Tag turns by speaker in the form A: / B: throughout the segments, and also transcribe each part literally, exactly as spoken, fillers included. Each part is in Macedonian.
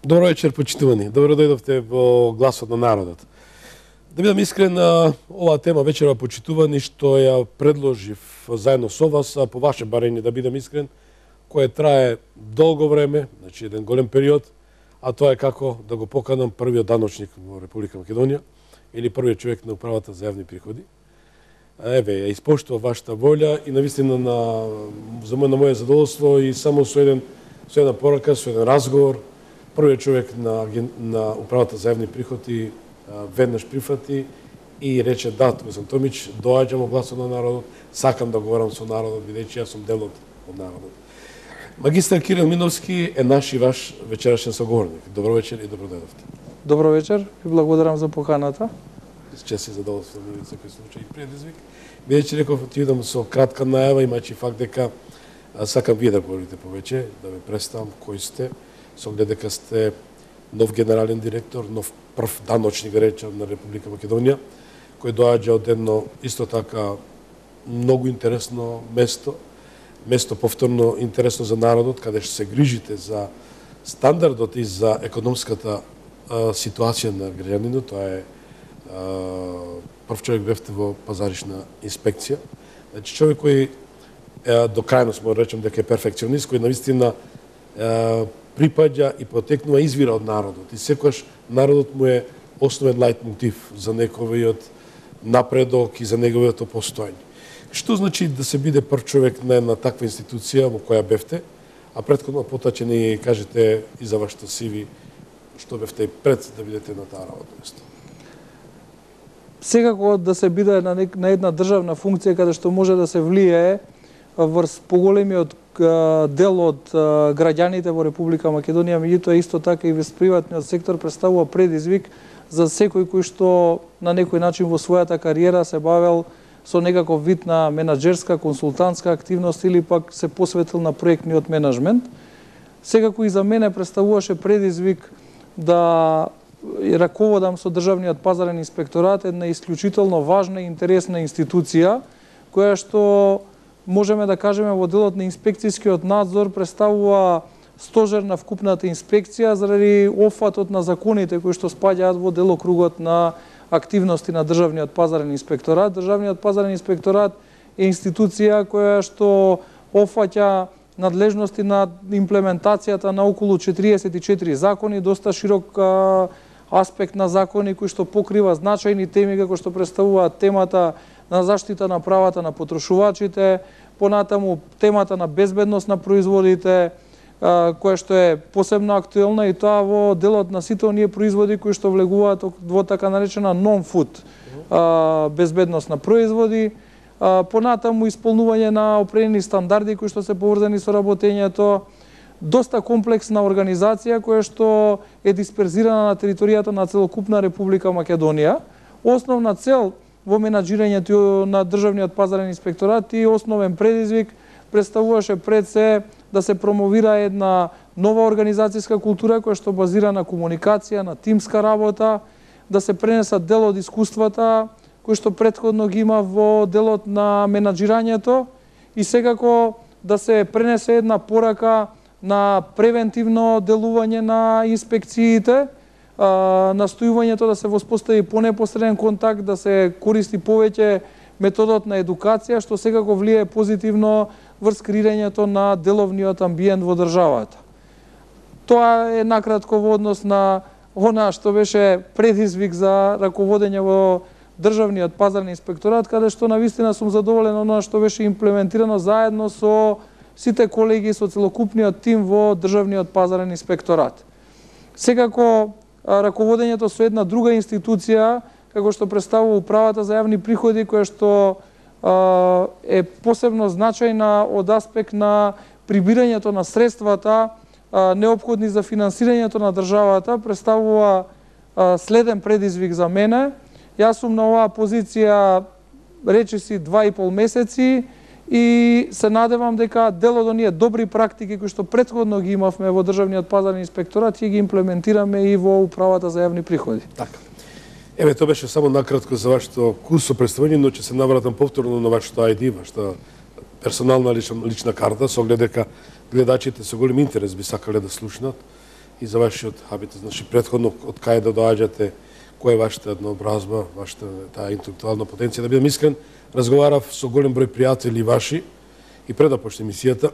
A: Добро вечер, почитувани. Добро дојдовте во Гласот на народот. Да бидам искрен, оваа тема вечера почитувани што ја предложив заедно со вас, а по ваше барење да бидам искрен, кој трае долго време, значи еден голем период, а тоа е како да го поканам првиот даночник во Република Македонија или првиот човек на управата за јавни приходи. Еве, ја испоштува вашата волја и навистина на за мој на моје задоволство и само со еден со една порака, со еден разговор, првиот човек на на управата за јавни приходи веднаш прифати и рече да, Томислав Томич, доаѓам во Гласот на народот, сакам да говорам со народот, бидејќи јас сум дел од народот. Магистар Кирил Миновски е наш и ваш вечерашен соговорник. Добро вечер и добро дојдовте.
B: Добро вечер и благодарам за поканата.
A: С чест и задоволство во секој случај и предизвик. Бидејќи реков ти идам со кратка најава, имајќи факт дека сакам вие да говорите повеќе, да ве представам кои сте, со оглед дека сте нов генерален директор, нов прв даночник, да речем, на Република Македонија, кој доаѓа од едно исто така многу интересно место, место повторно интересно за народот, каде што се грижите за стандардот и за економската а, ситуација на граѓанинот. Тоа е а, прв човек бевте во пазаришна инспекција. Значи човек кој е, до крајност може речем дека е перфекционист, кој навистина е, припаѓа и потекнува извира од народот. И секогаш народот му е основен лајт мотив за неговиот напредок и за неговиот постоење. Што значи да се биде прв човек на една таква институција во која бевте, а претходно потоа ќе ни кажете и за вашето си ви што бевте пред да бидете на таа работно место?
B: Секако да се биде на, нек, на една државна функција каде што може да се влијае врз поголемиот дел од граѓаните во Република Македонија, меѓутоа исто така и врз приватниот сектор представува предизвик за секој кој што на некој начин во својата кариера се бавел со некаков вид на менаџерска, консултантска активност или пак се посветил на проектниот менеджмент. Секако и за мене представуваше предизвик да раководам со Државниот пазарен инспекторат, една исклучително важна и интересна институција, која што можеме да кажеме во делот на инспекцијскиот надзор представува стожер на вкупната инспекција заради опфатот на законите кои што спаѓаат во делокругот на активности на Државниот пазарен инспекторат. Државниот пазарен инспекторат е институција која што опфаќа надлежности на имплементацијата на околу четириесет и четири закони, доста широк а, аспект на закони кои што покрива значајни теми како што представуваат темата на заштита на правата на потрошувачите, понатаму темата на безбедност на производите, која што е посебно актуелна и тоа во делот на сите оние производи кои што влегуваат во така наречена non-food безбедност на производи, понатаму исполнување на определени стандарди кои што се поврзани со работењето, доста комплексна организација која што е дисперзирана на територијата на целокупна Република Македонија. Основна цел во менаџирањето на Државниот пазарен инспекторат и основен предизвик представуваше пред се да се промовира една нова организацијска култура која што базира на комуникација, на тимска работа, да се пренесат дел од искуствата кои што претходно ги има во делот на менаџирањето и секако да се пренесе една порака на превентивно делување на инспекциите, настојувањето да се воспостави понепосреден контакт, да се користи повеќе методот на едукација, што секако влијае позитивно врз креирањето на деловниот амбиент во државата. Тоа е накратко во однос на она што беше предизвик за раководење во Државниот пазарен инспекторат, каде што навистина сум задоволен она што беше имплементирано заедно со сите колеги, со целокупниот тим во Државниот пазарен инспекторат. Секако раководењето со една друга институција, како што представува управата за јавни приходи, која што е посебно значајна од аспект на прибирањето на средствата неопходни за финансирањето на државата, представува следен предизвик за мене. Јас сум на оваа позиција речиси два и пол месеци и се надевам дека дел од оние добри практики кои што претходно ги имавме во Државниот пазарен инспекторат ќе ги имплементираме и во управата за јавни приходи.
A: Така. Еве, тоа беше само накратко за вашето курсо представање, но ќе се навратам повторно на вашето ај ди, вашата персонална лична, лична карта, со оглед дека гледачите со голем интерес би сакале да слушнат и за вашиот хабитет. Значи, претходно, од кај да доаѓате, која е вашата еднообразба, вашата таа интелектуална потенција. Да бидам искрен, разговарав со голем број пријатели ваши и пред да почне емисијата.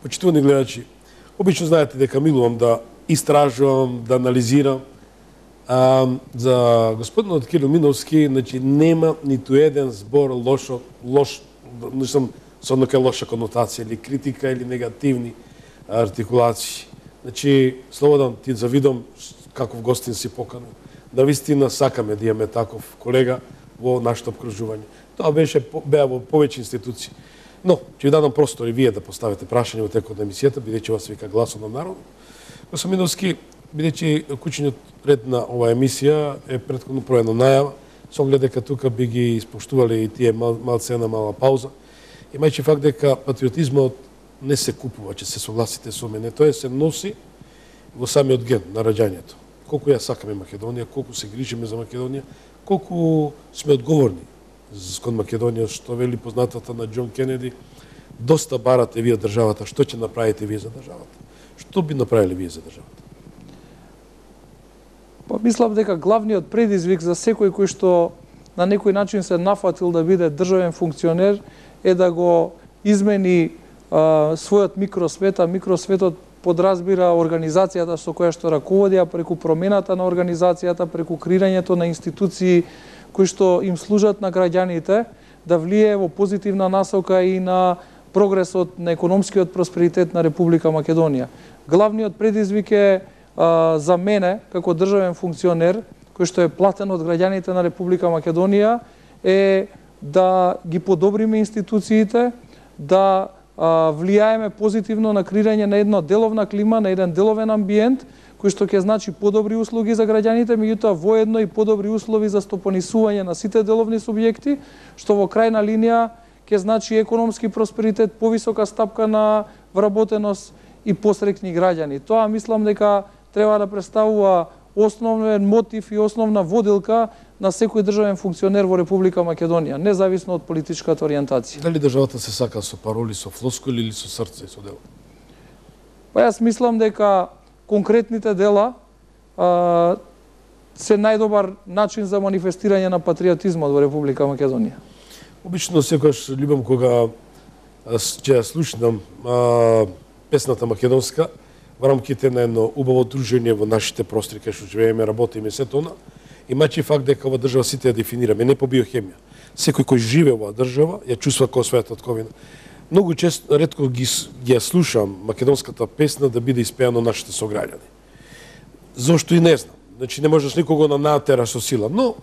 A: Почитувани гледачи, обично знаете дека милувам да истражувам, да анализирам. А, за господинот Кирил Миновски, значи, нема ниту еден збор лошо, лош, не сум со нека лоша конотација или критика или негативни артикулации. Значи, слободен ти завидам каков гостин си поканен. Навистина сакаме да имаме таков колега во нашето обкружување. Тоа беше беа во повеќе институции. Но, ќе ви дадам простор и вие да поставите прашање во текот на емисијата, бидејќи вас вика гласот на народот. Господин Миновски, бидејќи кучниот ред на оваа емисија е претходно проведена најава, со оглед дека тука би ги испоштувале и тие мал, малце една мала пауза. Имајќи факт дека патриотизмот не се купува, че се согласите со мене, тоа се носи во самиот ген на раѓањето. Колку ја сакаме Македонија, колку се грижиме за Македонија, колку сме одговорни кон Македонија, што вели познатата на Џон Кенеди, доста барате вие државата, што ќе направите вие за државата? Што би направиле вие за државата?
B: Па мислам дека главниот предизвик за секој кој што на некој начин се нафатил да биде државен функционер е да го измени а, својот микросвет, а микросветот подразбира организацијата со која што раководи, а преку промената на организацијата, преку креирањето на институции кои што им служат на граѓаните, да влие во позитивна насока и на прогресот на економскиот просперитет на Република Македонија. Главниот предизвик е а, за мене, како државен функционер, кој што е платен од граѓаните на Република Македонија, е да ги подобриме институциите, да а, влијаеме позитивно на креирање на една деловна клима, на еден деловен амбиент, кој што ќе значи подобри услуги за граѓаните, меѓутоа воедно и подобри услови за стопанисување на сите деловни субјекти, што во крајна линија ќе значи економски просперитет, повисока стапка на вработеност и посреќни граѓани. Тоа мислам дека треба да представува основен мотив и основна водилка на секој државен функционер во Република Македонија, независно од политичката ориентација.
A: Дали државата се сака со пароли, со флоскули или со срце и со дело?
B: Па јас мислам дека конкретните дела а, се најдобар начин за манифестирање на патриотизмот во Република Македонија.
A: Обично секогаш љубам кога ќе ја слушнам а, песната македонска во рамките на едно убаво дружење во нашите простори кај што живееме, работиме се тоа. Имајќи факт дека ова држава сите ја дефинираме, не по биохемија. Секој кој живее во држава ја чувствува како својата татковина. Многу често, ретко ги, ги ја слушам македонската песна да биде испеана нашите сограѓани. Зошто и не знам. Значи не можеш никого на натераш со сила, но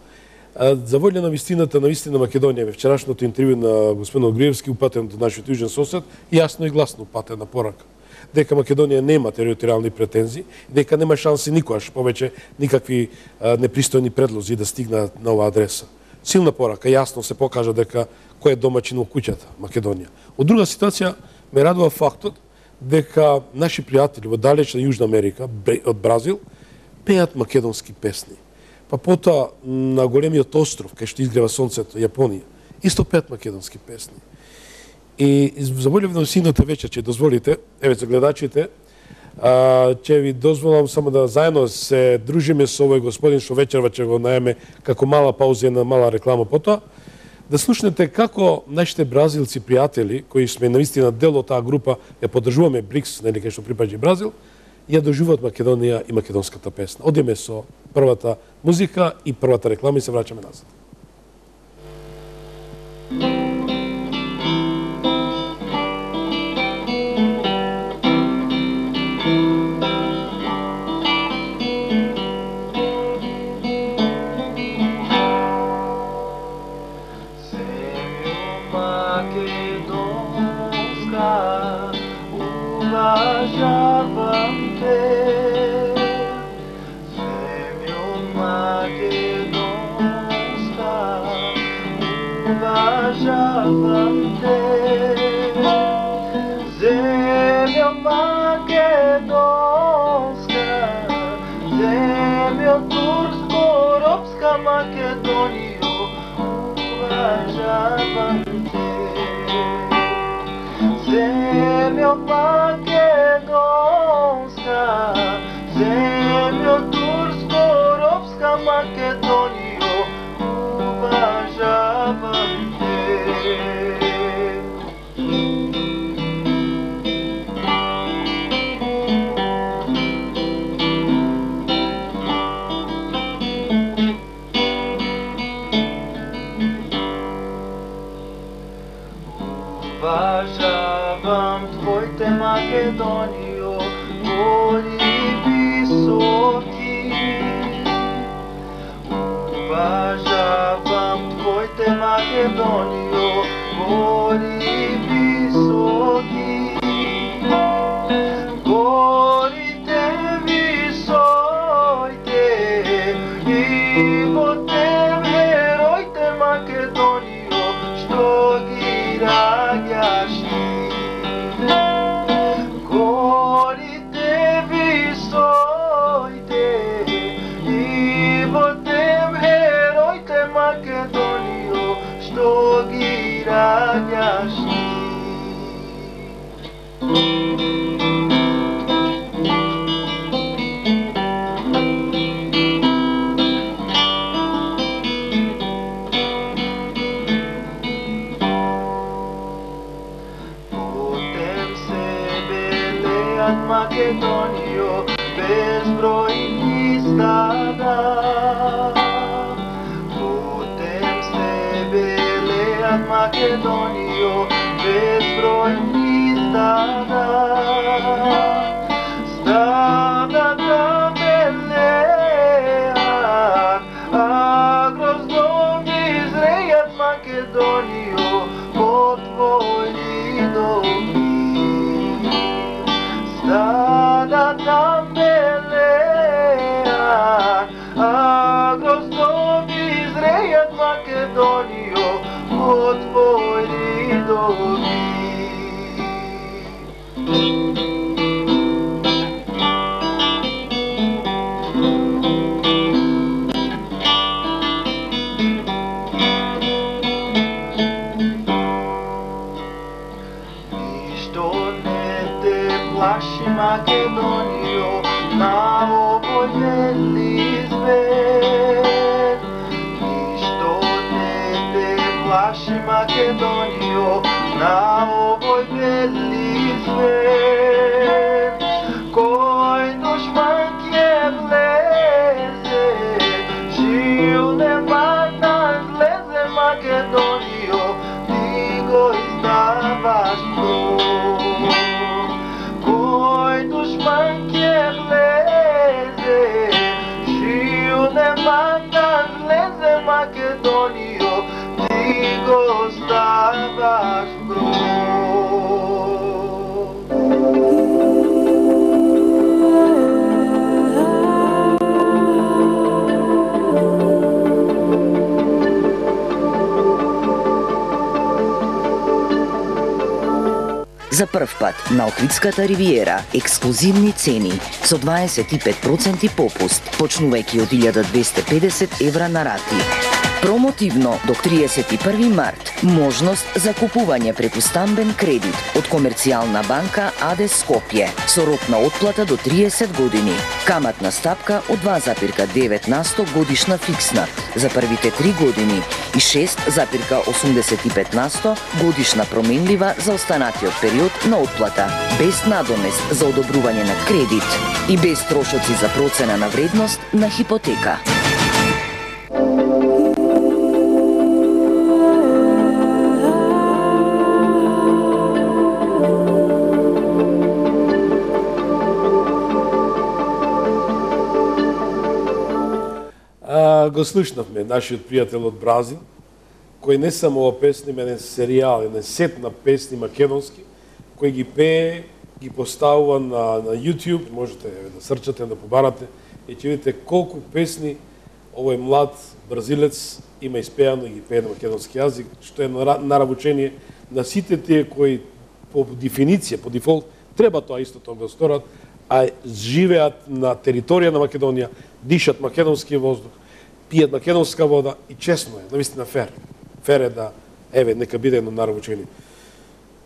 A: а, за волја на вистината, на вистина Македонија, во вчерашното интервју на господин Огриевски, упатен до нашиот јужен сосед, јасно и гласно упатена порака дека Македонија нема територијални претензии, дека нема шанси никогаш повеќе никакви а, непристојни предлози да стигнат на оваа адреса. Силна порака, јасно се покажа дека кој е домаќин во куќата, Македонија. Од друга ситуација, ме радува фактот дека наши пријатели во далечна Јужна Америка, од Бразил, пеат македонски песни. Па потоа на големиот остров, кај што изгрева сонцето, Јапонија, исто пеат македонски песни. И за волја на сината вечер, ќе дозволите, еве за гледачите, а, ќе ви дозволам само да заедно се дружиме со овој господин што вечерва ќе го наеме како мала пауза на мала реклама потоа, да слушнете како нашите бразилци пријатели, кои сме навистина дел од таа група, ја поддржуваме БРИКС, нели кај што припаѓа Бразил, ја доживуваат Македонија и македонската песна. Одиме со првата музика и првата реклама и се враќаме назад.
C: Земјо македонска, Уважавам твоите Македонио, гори високи. Уважавам твоите Македонио, гори високи. Горите висоите и во тем героите Македонио, што ги раѓаш ти. Горите висоите и во тем героите Македонио, што ги раѓаш ти. Македонио, безбројни стада. Путем се белеат Македонио, безбројни стада. Стадата белеат, а гроздови зрејат Македонио, по твоји доми. Стадата белеат, а гроздови зрејат Македонио, по твоји доми. Плаши Македонио, на овој бели свет. Ништо не те плаши Македонио, на овој бели свет. Кој душман ќе влезе, жил нема да влезе Македонио, ти го издаваш пром. Кој душман ќе влезе, жил нема да влезе Македонио, ти го ставаш
D: За прв пат на Охридската ривиера ексклузивни цени со дваесет и пет проценти попуст, почнувајќи од илјада двесте и педесет евра на рати. Промотивно до триесет и први март можност за купување преку стамбен кредит од Комерцијална банка АД Скопје со рок на отплата до триесет години. Каматна стапка од два запирка девет на сто годишна фиксна за првите три години и шест запирка осумдесет и пет на сто годишна променлива за останатиот период на отплата, без надомест за одобрување на кредит и без трошоци за процена на вредност на хипотека.
A: Го слушнавме нашиот пријател од Бразил, кој не само ова песни, мене серијал, еден сет на песни македонски, кој ги пее, ги поставува на, на YouTube, можете да срчате, да побарате, и ќе видите колку песни овој млад бразилец има испеано и ги пее на македонски јазик, што е наравучение на сите тие кои по дефиниција, по дефолт, треба тоа исто тоа да сторат, а живеат на територија на Македонија, дишат македонски воздух, пијат македонска вода и честно е, навистина фер. Фер е да, еве, нека биде едно наравучение.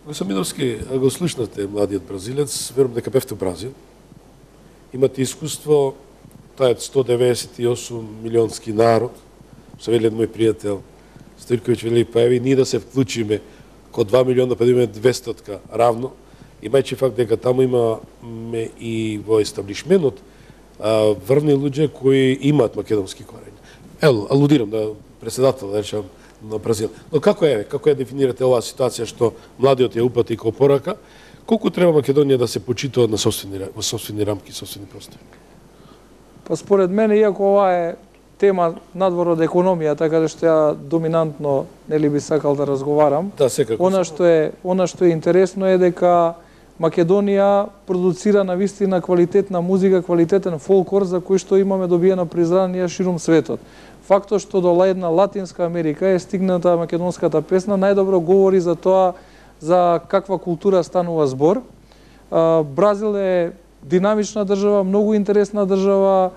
A: Госамидовски, го слушнате младиот бразилец, верувам дека бевте у Бразил. Имате искуство, тај е сто деветдесет и осум милионски народ, што вели мој пријател Стојковиќ, вели, па еви, ние да се вклучиме ко два милиона, па да имаме двестотка равно, имајќи факт дека таму имаме и во естаблишменот врвни луѓе кои имаат македонски корења. Ел, алудирам да председател, да речам, на Бразил. Но како е, како ја дефинирате оваа ситуација што младиот ја упати како порака? Колку треба Македонија да се почитува на собствени во собствени рамки, собствени простори?
B: Па според мене, иако ова е тема надвор од економија, така да што ја доминантно нели би сакал да разговарам.
A: Да, секако.
B: Она што е, она што е интересно е дека Македонија продуцира на вистина квалитетна музика, квалитетен фолклор за кој што имаме добиено признание широм светот. Фактот што до една Латинска Америка е стигната македонската песна најдобро говори за тоа за каква култура станува збор. Бразил е динамична држава, многу интересна држава,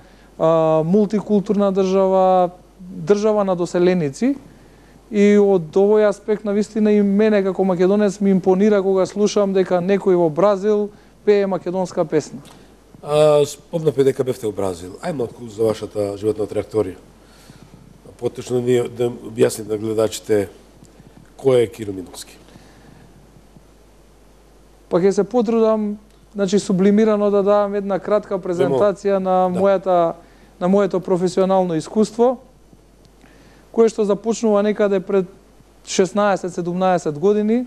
B: мултикултурна држава, држава на доселеници. И од овој аспект на вистина и мене како македонец ми импонира кога слушам дека некој во Бразил пее македонска песна.
A: А, спомнавте дека бевте во Бразил. Ај малку за вашата животна траекторија. Поточно ни да објасните на гледачите кој е Киро Миновски.
B: Па ќе се потрудам, значи сублимирано да дадам една кратка презентација на
A: да.
B: мојата на моето професионално искуство, кое што започнува некаде пред шеснаесет-седумнаесет години.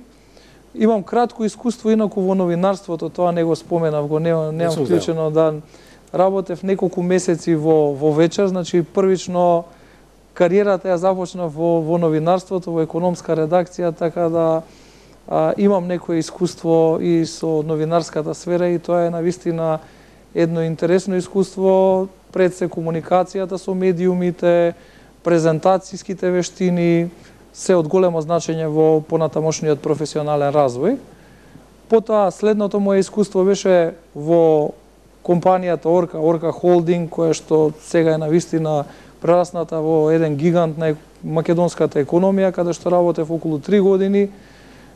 B: Имам кратко искуство инаку во новинарството, тоа не го споменав, го немам, немам вклучено да работев неколку месеци во во вечер, значи првично кариерата ја започнав во во новинарството, во економска редакција, така да а, имам некое искуство и со новинарската сфера и тоа е навистина едно интересно искуство, пред се комуникацијата со медиумите, презентацијските вештини, се од големо значење во понатамошниот професионален развој. Потоа, следното моје искуство беше во компанијата Орка, Орка Холдинг, која што сега е навистина прерасната во еден гигант на македонската економија, каде што работев околу три години.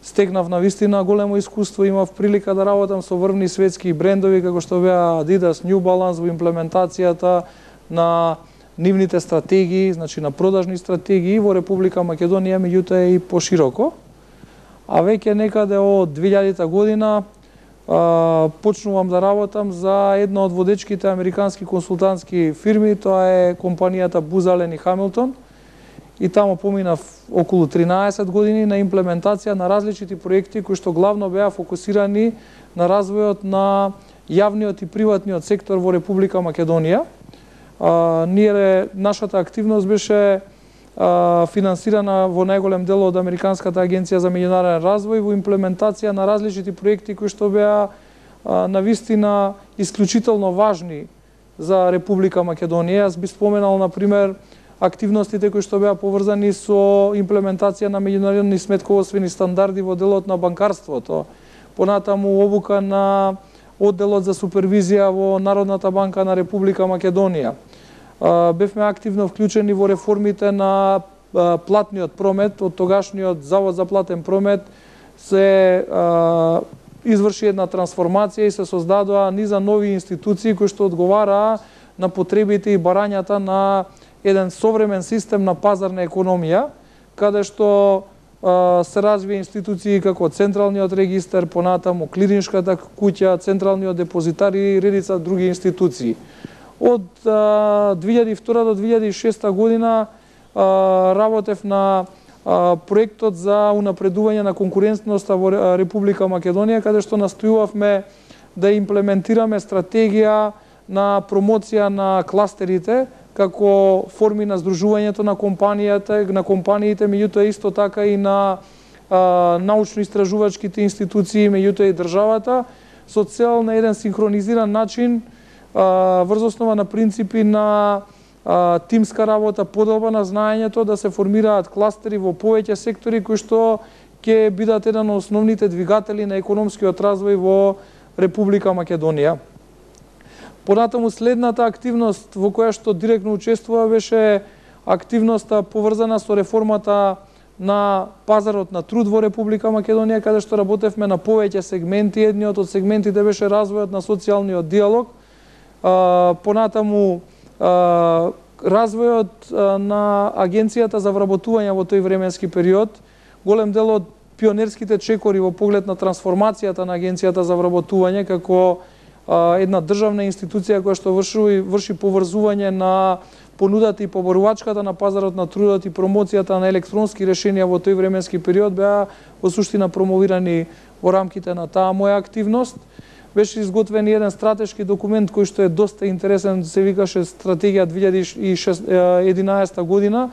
B: Стекнав навистина големо искуство, имав прилика да работам со врвни светски брендови, како што беа Adidas, New Balance, во имплементацијата на нивните стратегии, значи на продажни стратегии во Република Македонија, меѓутоа и пошироко. А веќе некаде од две илјадета година а, почнувам да работам за една од водечките американски консултантски фирми, тоа е компанијата Booz Allen и Hamilton. И таму поминав околу тринаесет години на имплементација на различити проекти кои што главно беа фокусирани на развојот на јавниот и приватниот сектор во Република Македонија. А, ние, нашата активност беше а, финансирана во најголем дел од Американската агенција за меѓународен развој во имплементација на различити проекти кои што беа а, навистина исклучително важни за Република Македонија. Јас би споменал, например, активностите кои што беа поврзани со имплементација на меѓународни сметководствени стандарди во делот на банкарството, понатаму обука на одделот за супервизија во Народната банка на Република Македонија. Бевме активно вклучени во реформите на платниот промет, од тогашниот Завод за платен промет се изврши една трансформација и се создадоа низа нови институции кои што одговараа на потребите и барањата на еден современ систем на пазарна економија, каде што а, се развија институции како Централниот регистар, понатаму Клириншката куќа, Централниот депозитар и редица други институции. Од а, две илјади и втора до две илјади и шеста година а, работев на а, проектот за унапредување на конкурентноста во Република Македонија, каде што настојувавме да имплементираме стратегија на промоција на кластерите како форми на здружувањето на компанијата, на компаниите, меѓутоа исто така и на научно-истражувачките институции, меѓутоа и државата, со цел на еден синхронизиран начин, а, врз основа на принципи на а, тимска работа, подоба на знаењето, да се формираат кластери во повеќе сектори кои што ќе бидат еден од основните двигатели на економскиот развој во Република Македонија. Понатаму следната активност во која што директно учествува беше активноста поврзана со реформата на пазарот на труд во Република Македонија, каде што работевме на повеќе сегменти. Едниот од сегментите беше развојот на социјалниот диалог, понатаму развојот на Агенцијата за вработување во тој временски период. Голем дел од пионерските чекори во поглед на трансформацијата на Агенцијата за вработување како една државна институција која што врши, врши поврзување на понудата и поборувачката на пазарот на трудот и промоцијата на електронски решенија во тој временски период беа во суштина промовирани во рамките на таа моја активност. Беше изготвен еден стратешки документ кој што е доста интересен, се викаше Стратегија две илјади и единаесета година,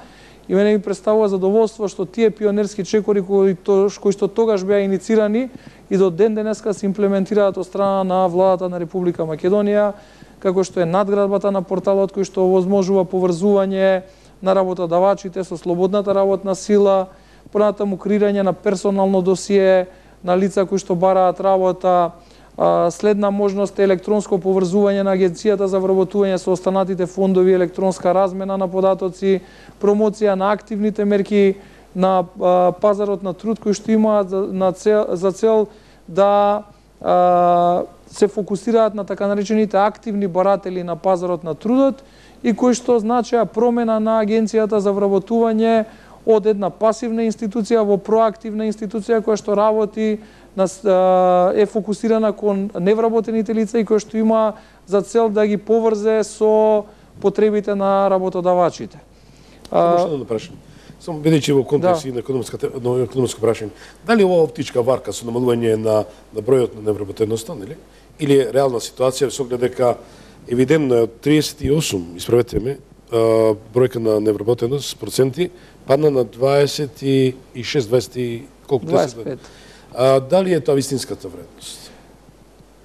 B: и мене ми представува задоволство што тие пионерски чекори кои, то, кои што тогаш беа иницирани и до ден денеска се имплементираат од страна на владата на Република Македонија, како што е надградбата на порталот кој што овозможува поврзување на работодавачите со слободната работна сила, понатаму креирање на персонално досие на лица кои што бараат работа, следна можност е електронско поврзување на Агенцијата за вработување со останатите фондови, електронска размена на податоци, промоција на активните мерки на пазарот на труд кои што имаат на цел, за цел да а, се фокусираат на така наречените активни баратели на пазарот на трудот и кои што значеа промена на Агенцијата за вработување од една пасивна институција во проактивна институција која што работи на, е фокусирана кон невработените лица и која што има за цел да ги поврзе со потребите на работодавачите.
A: Само што да прашам. Само бидејќи во контекст
B: да.
A: на економската на економско прашање, дали ова оптичка варка со намалување на на бројот на невработеността, нели? Или е реална ситуација со оглед дека евидентно е од триесет и осум, исправете ме, бројка на невработеност проценти падна на дваесет и шест, дваесет колку
B: дваесет и пет.
A: А, дали е тоа вистинската вредност?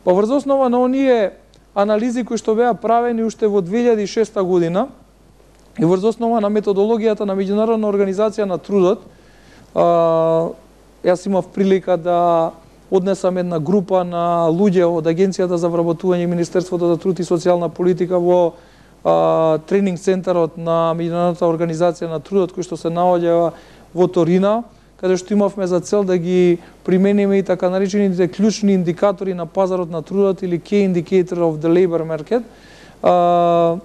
B: Па врз основа на оние анализи кои што беа правени уште во две илјади и шеста година и врз основа на методологијата на Меѓународна организација на трудот, а, јас имав прилика да однесам една група на луѓе од Агенцијата за вработување и Министерството за труд и социјална политика во а, тренинг центарот на Меѓународната организација на трудот кој што се наоѓа во Торина, каде што имавме за цел да ги примениме и така наречените клучни индикатори на пазарот на трудот или Key Indicator of the Labor Market. А,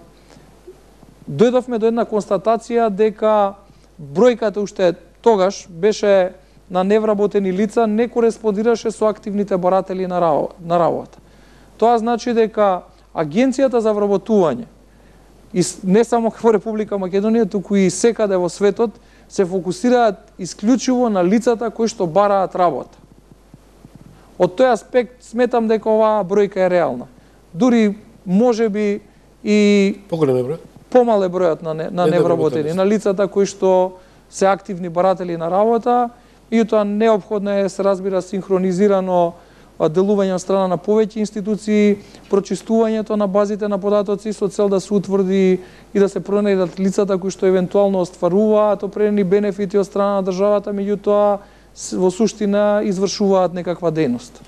B: дојдовме до една констатација дека бројката уште тогаш беше на невработени лица не кореспондираше со активните баратели на работа. Тоа значи дека Агенцијата за вработување, и не само во Република Македонија, туку и секаде во светот, се фокусираат исклучиво на лицата кои што бараат работа. Од тој аспект сметам дека оваа бројка е реална. Дури можеби и
A: поголем е бројот?
B: Помал е бројот на, не, на невработени, на лицата кои што се активни баратели на работа, и тоа неопходно е, се разбира, синхронизирано делување од страна на повеќе институции, прочистувањето на базите на податоци со цел да се утврди и да се пронајдат лицата кои што евентуално остваруваат определени бенефити од страна на државата, меѓутоа во суштина извршуваат некаква дејност.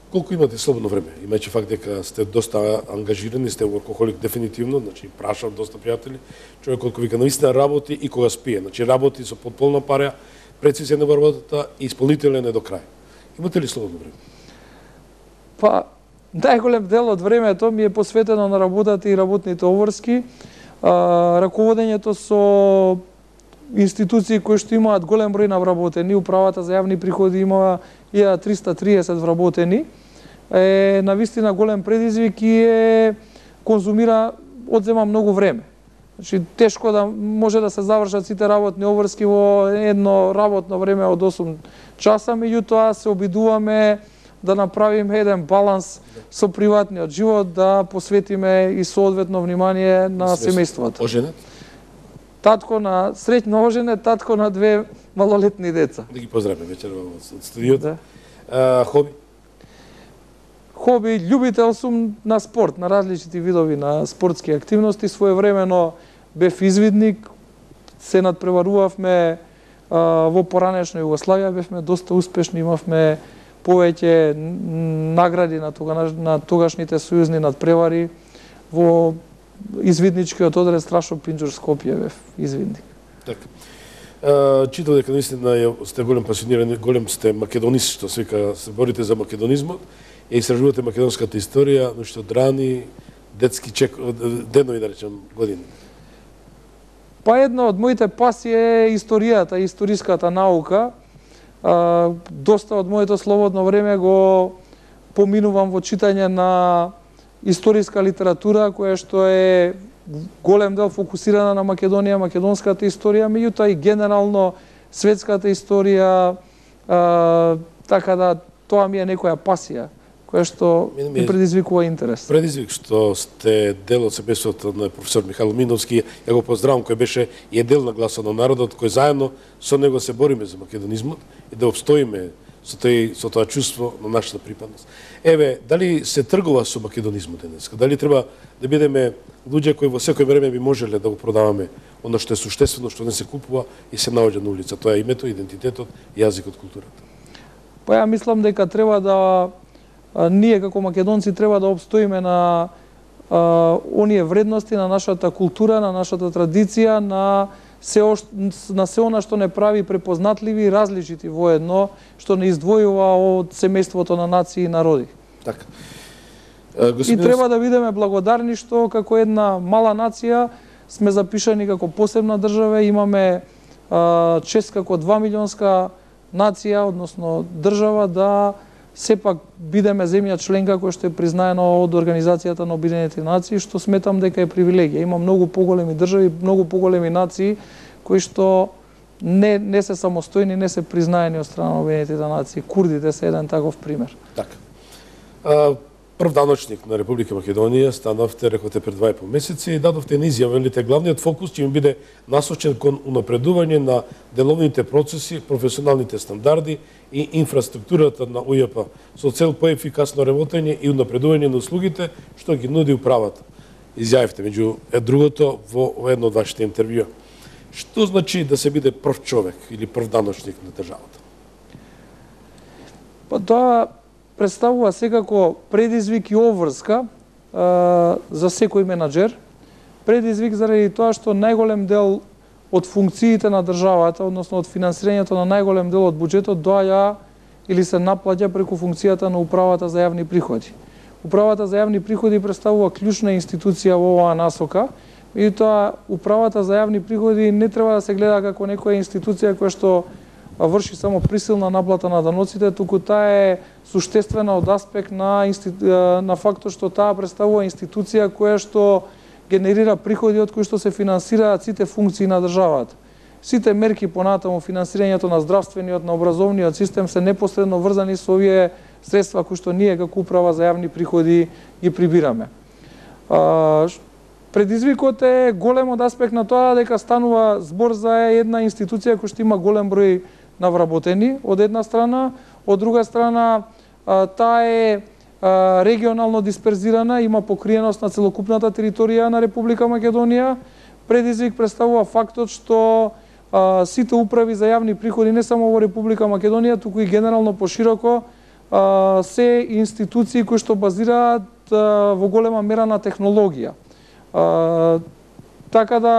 A: Колку имате слободно време? Имајќи факт дека сте доста ангажирани, сте workaholic дефинитивно, значи прашав доста пријатели, човек кој вика навистина работи и кога спие, значи работи со потполна пара, прецизија на работата и исполнителен е до крај. Имате ли слободно време?
B: Па, најголем дел од времето ми е посветено на работата и работните обврски, а, раководењето со институции кои што имаат голем број на вработени, управата за јавни приходи има илјада триста и триесет вработени, е навистина голем предизвик и е конзумира, одзема многу време. Значи, тешко да може да се завршат сите работни обврски во едно работно време од осум часа, меѓутоа се обидуваме да направиме еден баланс со приватниот живот, да посветиме и соодветно внимание на семејството.
A: Оженет?
B: Татко на среќно оженет, татко на две малолетни деца.
A: Да ги поздравиме вечер од студиото.
B: Да.
A: А, хоби?
B: Хоби, љубител сум на спорт, на различити видови на спортски активности. Своевремено бев извидник, се надпреварувавме а, во поранешна Југославија, бевме доста успешни, имавме повеќе награди на, тога, на тогашните сојузни надпревари во извидничкиот одред Страшо Пинџур Скопје бев извидник.
A: Така. Читав дека наистина сте голем пасионирани, голем сте македонист, што се вика, се борите за македонизмот и истражувате македонската историја, но што драни детски чек, денови, да речем, години.
B: Па една од моите пасии е историјата, историската наука. А, доста од моето слободно време го поминувам во читање на историска литература, која што е голем дел фокусирана на Македонија, македонската историја, меѓутоа и генерално светската историја, а, така да тоа ми е некоја пасија, која што ми предизвикува интерес.
A: Предизвик што сте дел од семејството на професор Михаил Миновски, ја го поздравам, кој беше и е дел на гласот на народот, кој заедно со него се бориме за македонизмот и да обстоиме со, тој, со тоа чувство на нашата припадност. Еве, дали се тргува со македонизмот денеска? Дали треба да бидеме луѓе кои во секој време би можеле да го продаваме оно што е суштествено, што не се купува и се наоѓа на улица? Тоа е името, идентитетот, јазикот, културата.
B: Па ја мислам дека треба да а, ние како македонци треба да обстоиме на а, оние вредности, на нашата култура, на нашата традиција, на се, на се она што не прави препознатливи и различити воедно, што не издвојува од семејството на нации и народи.
A: Така.
B: И треба да бидеме благодарни што како една мала нација сме запишани како посебна држава, имаме а, чест како два милионска нација, односно држава, да сепак бидеме земја членка која што е признаена од Организацијата на Обединетите нации, што сметам дека е привилегија. Има многу поголеми држави, многу поголеми нации кои што не не се самостојни, не се признаени од страна на Обединетите нации. Курдите се еден таков пример.
A: Така. А, прв даночник на Република Македонија станавте, рекоте, пред два и пол месеци и дадовте на изјава, велите, главниот фокус ќе им биде насочен кон унапредување на деловните процеси, професионалните стандарди и инфраструктурата на У Ј П со цел поефикасно работење и унапредување на услугите што ги нуди управата. Изјавивте меѓу другото во едно од вашите интервјуа. Што значи да се биде прв човек или прв даночник на државата?
B: Па тоа представува секако предизвик и обврска а, за секој менаџер. Предизвик заради тоа што најголем дел од функциите на државата, односно од финансирањето на најголем дел од буџетот доаѓа или се наплаќа преку функцијата на управата за јавни приходи. Управата за јавни приходи представува клучна институција во оваа насока, и тоа управата за јавни приходи не треба да се гледа како некоја институција која што врши само присилна наплата на даноците, туку таа е суштествена од аспект на, институ... на фактот што таа представува институција која што генерира приходи од кои што се финансираат сите функции на државата. Сите мерки понатаму, финансирањето на здравствениот, на образовниот систем се непосредно врзани со овие средства кои што ние како управа за јавни приходи ги прибираме. А, предизвикот е голем од аспект на тоа дека станува збор за една институција која што има голем број навработени од една страна, од друга страна таа е регионално дисперзирана, има покриеност на целокупната територија на Република Македонија. Предизвик представува фактот што а, сите управи за јавни приходи не само во Република Македонија, туку и генерално пошироко а, се институции кои што базираат а, во голема мера на технологија. А, така да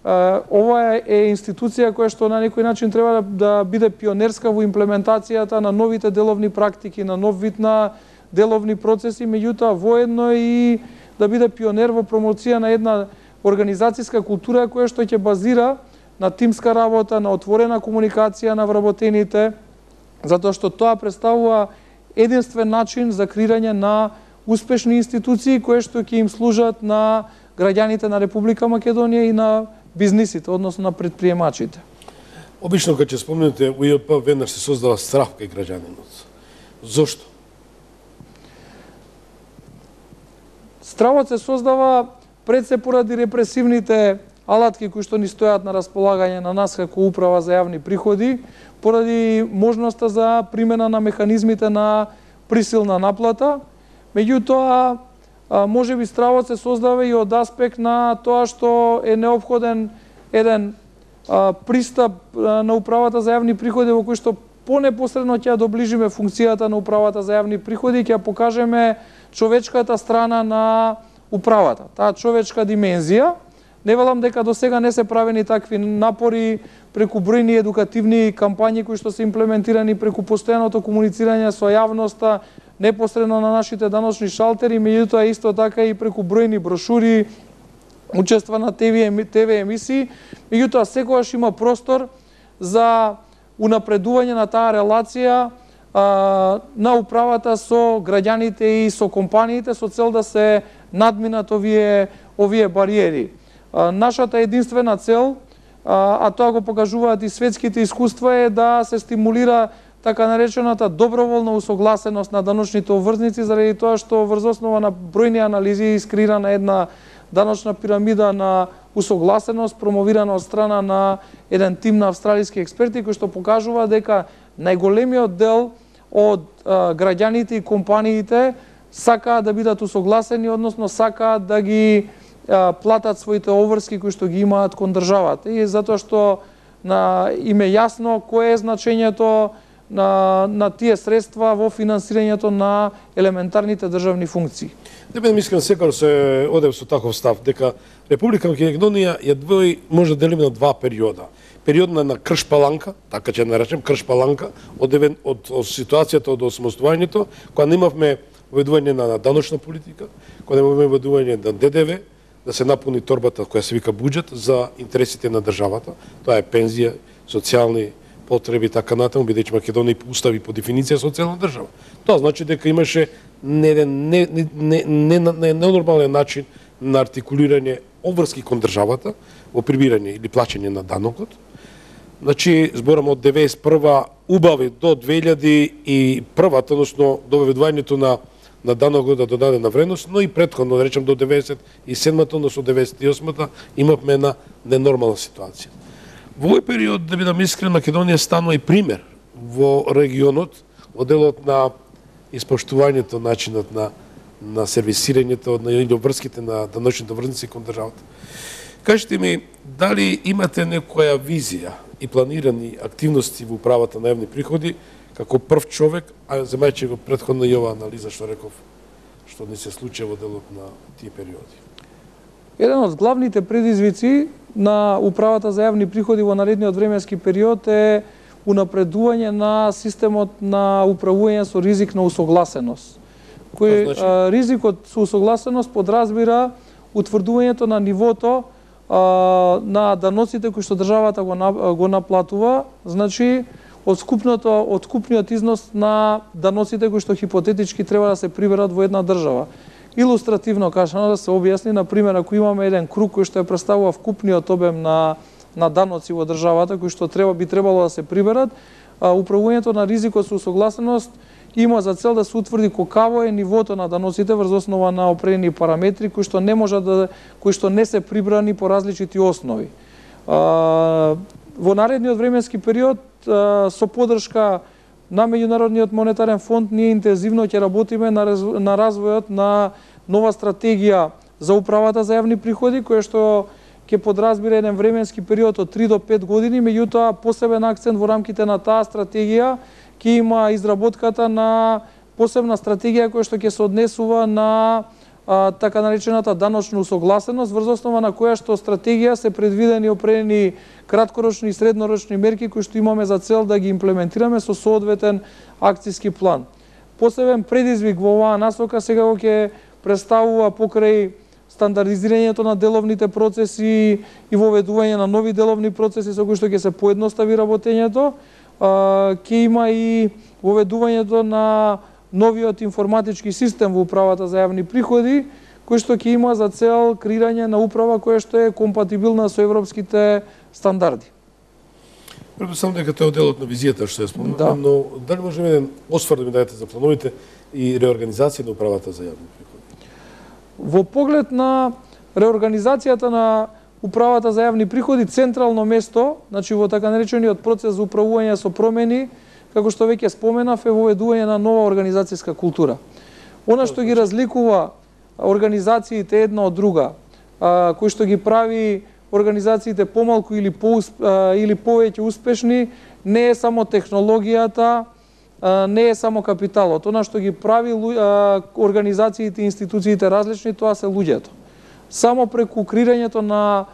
B: ова е институција која што на некој начин треба да биде пионерска во имплементацијата на новите деловни практики, на нов вид на деловни процеси, меѓутоа воедно и да биде пионер во промоција на една организацијска култура која што ќе базира на тимска работа, на отворена комуникација на вработените, затоа што тоа представува единствен начин за креирање на успешни институции кои што ќе им служат на граѓаните на Република Македонија и на бизнисите, односно на предприемачите.
A: Обично кога ќе спомнете У Ј П, веднаш се создава страх кај граѓанинот. Зошто?
B: Стравот се создава пред се поради репресивните алатки кои што ни стојат на располагање на нас како управа за јавни приходи, поради можноста за примена на механизмите на присилна наплата. Меѓутоа, може би стравот се создава и од аспект на тоа што е неопходен еден а, пристап а, на управата за јавни приходи во кој што понепосредно ќе ја доближиме функцијата на управата за јавни приходи, ќе ја покажеме човечката страна на управата, таа човечка димензија. Не велам дека до сега не се правени такви напори преку бројни едукативни кампањи кои што се имплементирани преку постојаното комуницирање со јавноста, непосредно на нашите даночни шалтери, меѓутоа исто така и преку бројни брошури, учества на Те Ви емисии, меѓутоа секогаш има простор за унапредување на таа релација а, на управата со граѓаните и со компаниите со цел да се надминат овие овие бариери. А, нашата единствена цел, а, а тоа го покажуваат и светските искуства, е да се стимулира така наречената доброволна усогласеност на даночните обврзници, заради тоа што врз основа на бројни анализи искреирана една даночна пирамида на усогласеност, промовирана од страна на еден тим на австралиски експерти, кои што покажува дека најголемиот дел од а, граѓаните и компаниите сакаат да бидат усогласени, односно сакаат да ги а, платат своите обврски кои што ги имаат кон државата. И затоа што на им е јасно кое е значењето на, на тие средства во финансирањето на елементарните државни функции.
A: Не бидам искрен, секогаш се одев со таков став, дека Република Македонија ја двои, може да делиме на два периода. Период на, на крш-паланка, така ќе наречем крш-паланка, од, од, од ситуацијата од осамостојањето, кога немавме воведување на даночна политика, кога немавме воведување на Д Д В, да се напуни торбата која се вика буџет за интересите на државата. Тоа е пензија, социјални потреби и така натаму, бидејќи Македонија по устав и по дефиниција социјална држава. Тоа значи дека имаше не не не не не не ненормален начин на артикулирање обврски кон државата во прибирање или плаќање на данокот. Значи зборам од деветдесет и прва убави до две илјади и прва, односно до воведувањето на на данокот да додадена вредност, но и претходно, да речем до деветдесет и седмата, односно деветдесет и осмата, имавме една ненормална ситуација. Во овој период, да бидам искрен, Македонија станува и пример во регионот, во делот на испоштувањето, начинот на на сервисирањето на или обврските на даночните обврзници кон државата. Кажете ми, дали имате некоја визија и планирани активности во управата на јавни приходи како прв човек, а земајќи го претходно и ова анализа што реков, што не се случи во делот на тие периоди?
B: Еден од главните предизвици на управата за јавни приходи во наредниот временски период е унапредување на системот на управување со ризик на усогласеност. Кој значи? а, ризикот со усогласеност подразбира утврдувањето на нивото а, на даноците кои што државата го, на, го наплатува, значи од скупното од скупниот износ на даноците кои што хипотетички треба да се приберат во една држава. Илустративно кажано да се објасни, на пример, ако имаме еден круг кој што е представува вкупниот обем на на даноци во државата кои што треба би требало да се приберат, а, управувањето на ризикот со усогласеност има за цел да се утврди колкаво е нивото на даноците врз основа на определени параметри кои што не можат да кои што не се прибрани по различити основи. А, во наредниот временски период а, со поддршка на Меѓународниот монетарен фонд ние интензивно ќе работиме на, раз, на развојот на нова стратегија за управата за јавни приходи, која што ќе подразбира еден временски период од три до пет години, меѓутоа посебен акцент во рамките на таа стратегија ќе има изработката на посебна стратегија која што ќе се однесува на а, така наречената даночна усогласеност, врз основа на која што стратегија се предвидени определени краткорочни и среднорочни мерки кои што имаме за цел да ги имплементираме со соодветен акцијски план. Посебен предизвик во оваа насока сега го ќе представува покрај стандардизирањето на деловните процеси и воведување на нови деловни процеси со кои што ќе се поедностави работењето, ќе има и воведувањето на новиот информатички систем во управата за јавни приходи, кој што ќе има за цел креирање на управа која што е компатибилна со европските стандарди.
A: Предпоставам дека тоа е делот на визијата што ја спомнав, да. Но дали можеме еден осврт да ми дадете за плановите и реорганизација на управата за јавни приходи?
B: Во поглед на реорганизацијата на управата за јавни приходи, централно место, значи во така наречениот процес за управување со промени, како што веќе споменав, е воведување на нова организацијска култура. Она што ги разликува организациите една од друга, а, кој што ги прави организациите помалку или по или повеќе успешни, не е само технологијата, а, не е само капиталот. Она што ги прави а, организациите и институциите различни, тоа се луѓето. Само преку креирањето на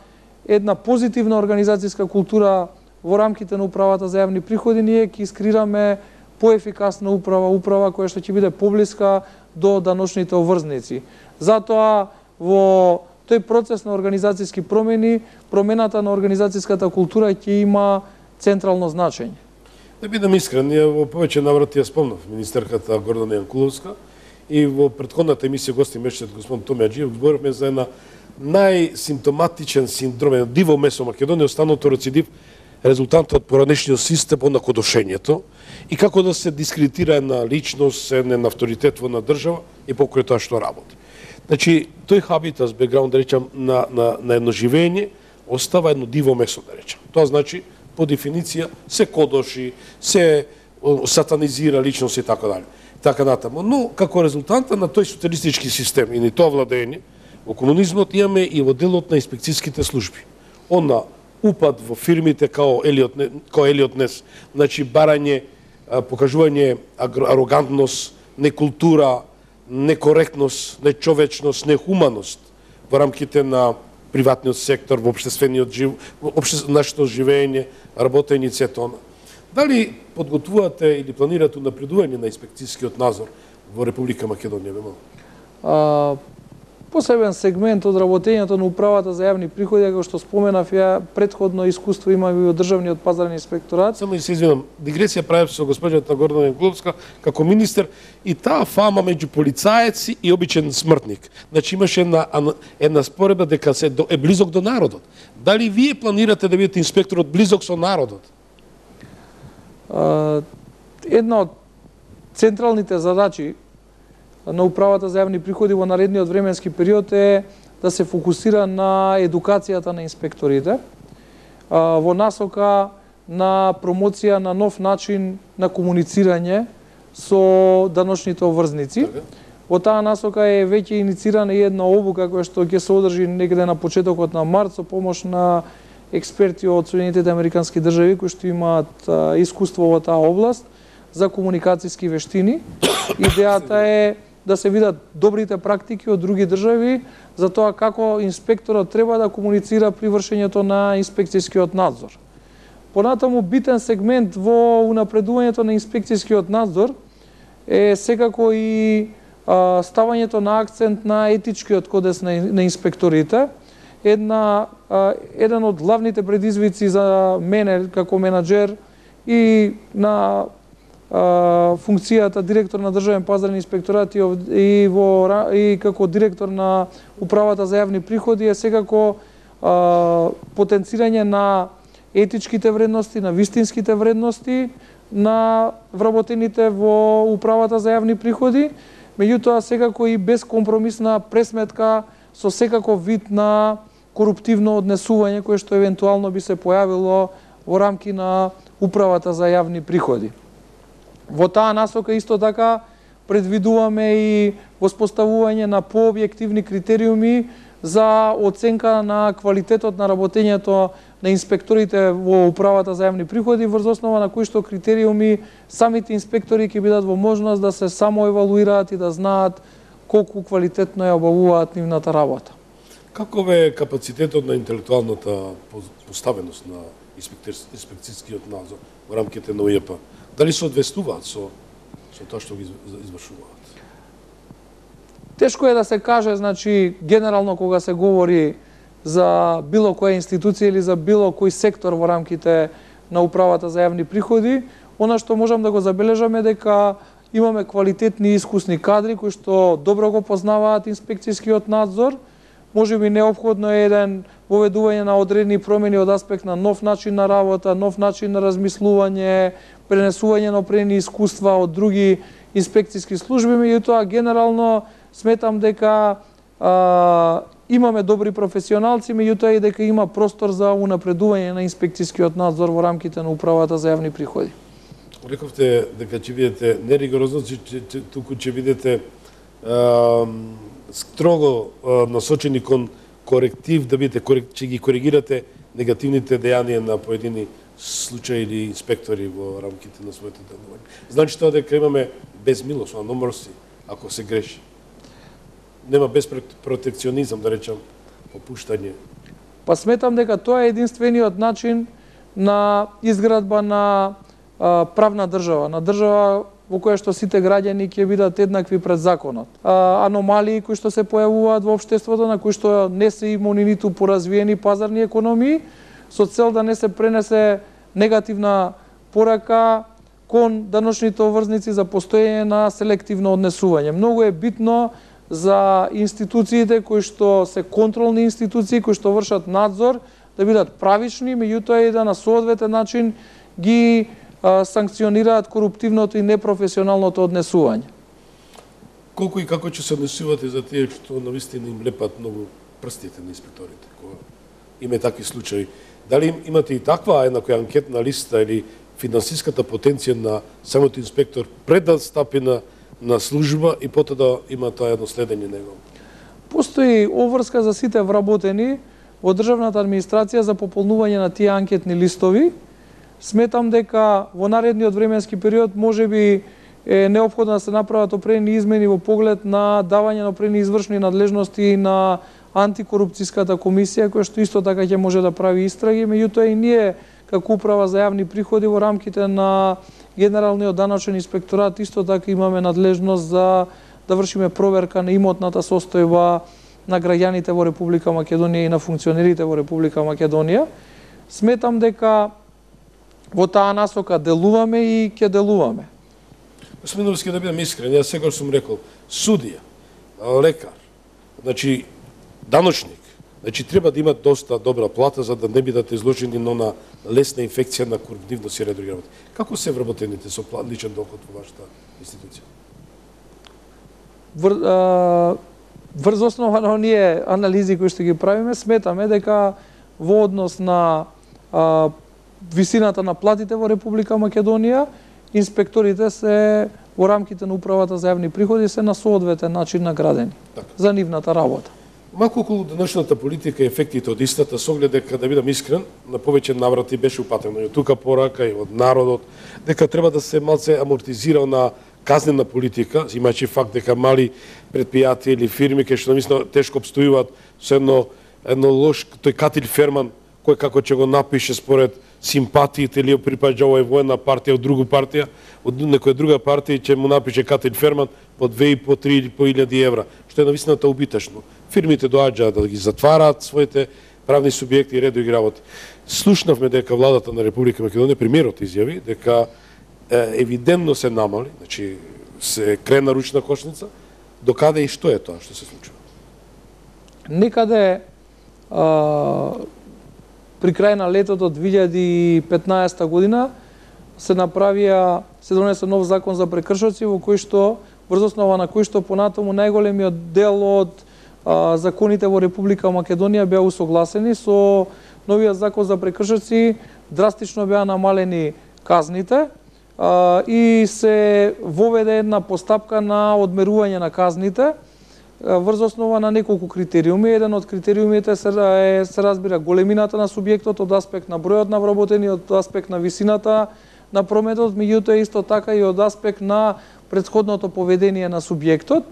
B: една позитивна организацијска култура во рамките на управата за јавни приходи, ние ќе искреираме поефикасна управа, управа која што ќе биде поблиска до даночните обврзници. Затоа во тој процес на организацијски промени, промената на организацијската култура ќе има централно значење.
A: Да бидам искрен, ние во повеќе наврати ја спомнав министерката Гордана Јанкуловска и во претходната емисија гости месечот господин Томи Аџиев говоревме за една најсимптоматичен синдром, едно диво месо Македонија, останато рецидив, резултантот од поранешниот систем од накодошењето и како да се дискредитира една личност, еден авторитет во една држава и покрај тоа што работи. Значи, тој хабитас, бекграунд, да речам, на, на, на едно живење, остава едно диво месо, да речам. Тоа значи, по дефиниција, се кодоши, се сатанизира личност и така дали. Така натаму. Но, како резултанта на тој социалистички систем и на тоа владење, во комунизмот имаме и во делот на инспекцијските служби. Она упад во фирмите као Елиот, као Елиот Нес, значи барање, покажување арогантност, некултура, некоректност, нечовечност, нехуманост во рамките на приватниот сектор, во општествениот жив, во обще, нашето живење, работење и сето она. Дали подготвувате или планирате напредување на инспекцијскиот надзор во Република Македонија?
B: А, посебен сегмент од работењето на управата за јавни приходи, како што споменав, ја претходно искуство имам и во државниот пазарен инспекторат.
A: Само и се извинам, дигресија правев со госпоѓата Гордана Јанкуловска како министер и таа фама меѓу полицаец и обичен смртник. Значи имаше една една споредба дека се до, е близок до народот. Дали вие планирате да бидете инспекторот близок со народот?
B: А, една од централните задачи на управата за јавни приходи во наредниот временски период е да се фокусира на едукацијата на инспекторите во насока на промоција на нов начин на комуницирање со даночните обврзници. Во таа насока е веќе иницирана и една обука која што ќе се одржи некаде на почетокот на март со помош на експерти од Соединетите американски држави кои што имаат искуство во таа област за комуникацијски вештини. Идејата е да се видат добрите практики од други држави за тоа како инспекторот треба да комуницира при вршењето на инспекцијскиот надзор. Понатаму битен сегмент во унапредувањето на инспекцијскиот надзор е секако и а, ставањето на акцент на етичкиот кодекс на, на инспекторите. Една, а, еден од главните предизвици за мене како менаџер и на функцијата директор на државен пазарен инспекторат и во и како директор на управата за јавни приходи е секако а, потенцирање на етичките вредности, на вистинските вредности на вработените во управата за јавни приходи, меѓутоа секако и безкомпромисна пресметка со секаков вид на коруптивно однесување кое што евентуално би се појавило во рамки на управата за јавни приходи. Во таа насока исто така предвидуваме и воспоставување на пообјективни критериуми за оценка на квалитетот на работењето на инспекторите во управата за јавни приходи, врз основа на кои што критериуми самите инспектори ќе бидат во можност да се самоевалуираат и да знаат колку квалитетно ја обавуваат нивната работа.
A: Каков е капацитетот на интелектуалната поставеност на инспекцијскиот надзор во рамките на У Ј П? Дали се одвестуваат со, со тоа што ги извршуваат?
B: Тешко е да се каже, значи, генерално кога се говори за било која институција или за било кој сектор во рамките на управата за јавни приходи, она што можам да го забележаме дека имаме квалитетни и искусни кадри кои што добро го познаваат инспекцијскиот надзор. Може би неопходно е еден воведување на одредени промени од аспект на нов начин на работа, нов начин на размислување, пренесување на определени искуства од други инспекцијски служби, меѓутоа генерално сметам дека а, имаме добри професионалци, меѓутоа и дека има простор за унапредување на инспекцијскиот надзор во рамките на управата за јавни приходи.
A: Рековте дека ќе бидете неригорозно, туку ќе бидете а, строго а, насочени кон коректив, да бидете ќе ги коригирате негативните дејанија на поедини случаи или инспектори во рамките на своето делување. Значи тоа дека имаме безмилост, no mercy, ако се греши. Нема безпротекционизам, да речам, попуштање.
B: Па сметам дека тоа е единствениот начин на изградба на а, правна држава, на држава во која што сите граѓани ќе бидат еднакви пред законот. А, аномалии кои што се појавуваат во општеството, на кои што не се имуни ниту поразвиени пазарни економии, со цел да не се пренесе негативна порака кон даночните обврзници за постоење на селективно однесување. Многу е битно за институциите кои што се контролни институции, кои што вршат надзор, да бидат правични, меѓутоа и да на соодветен начин ги а, санкционираат коруптивното и непрофесионалното однесување.
A: Колку и како ќе се однесувате за тие што навистина им лепат многу прстите на инспекторите, кога има такви случаи? Дали имате и таква една која анкетна листа или финансиската потенција на самото инспектор пред да стапи на, на служба и потоа да има тоа едно следење него?
B: Постои обврска за сите вработени во државната администрација за пополнување на тие анкетни листови. Сметам дека во наредниот временски период можеби е неопходно да се направат определени измени во поглед на давање на определени извршни надлежности на антикорупцијската комисија, која што исто така ќе може да прави истраги, меѓутоа и ние како управа за јавни приходи во рамките на Генералниот даночен инспекторат исто така имаме надлежност за да вршиме проверка на имотната состојба на граѓаните во Република Македонија и на функционерите во Република Македонија. Сметам дека во таа насока делуваме и ќе делуваме.
A: Господин Новски, да бидам искрен, јас секогаш сум рекол, судија, лекар, значи даночник, значи треба да имат доста добра плата за да не бидат изложени на она лесна инфекција на корупtivност и ред други работи. Како се вработените со личен доход во вашата институција?
B: Вр, а, врз основа на оние анализи кои што ги правиме, сметаме дека во однос на а, висината на платите во Република Македонија, инспекторите се во рамките на управата за јавни приходи се на соодветен начин наградени така за нивната работа.
A: Малку околу денешната политика и ефектите од истата, со оглед дека, да бидам искрен, на повеќе наврати беше упатено и од тука порака и од народот, дека треба да се малце амортизира на казнена политика, имајќи факт дека мали предпријатија или фирми кои што намислено тешко обстојуваат со едно, едно лош, тој Катил Ферман, кој како ќе го напише според симпатиите или припаѓа овој во една партија, од друга партија, од некоја друга партија ќе му напише Катил Ферман по две и по три или по илјади евра, што е навистината убитешно. Фирмите доаѓаат да ги затвараат своите правни субјекти и ред други работи. Слушнавме дека владата на Република Македонија, премиерот изјави дека е, евидентно се намали, значи се крена ручна кошница, докаде и што е тоа што се случува?
B: Некаде а, при крај на летото две илјади и петнаесета година се направија, се донесе нов закон за прекршоци во кој што врз основа на кој што понатаму најголемиот дел од а, законите во Република Македонија беа усогласени со новиот закон за прекршоци, драстично беа намалени казните а, и се воведе една постапка на одмерување на казните врз основа на неколку критериуми. Еден од критериумите се, е, се разбира големината на субјектот од аспект на бројот на вработени, од аспект на висината на прометот, меѓутоа исто така и од аспект на претходното поведение на субјектот.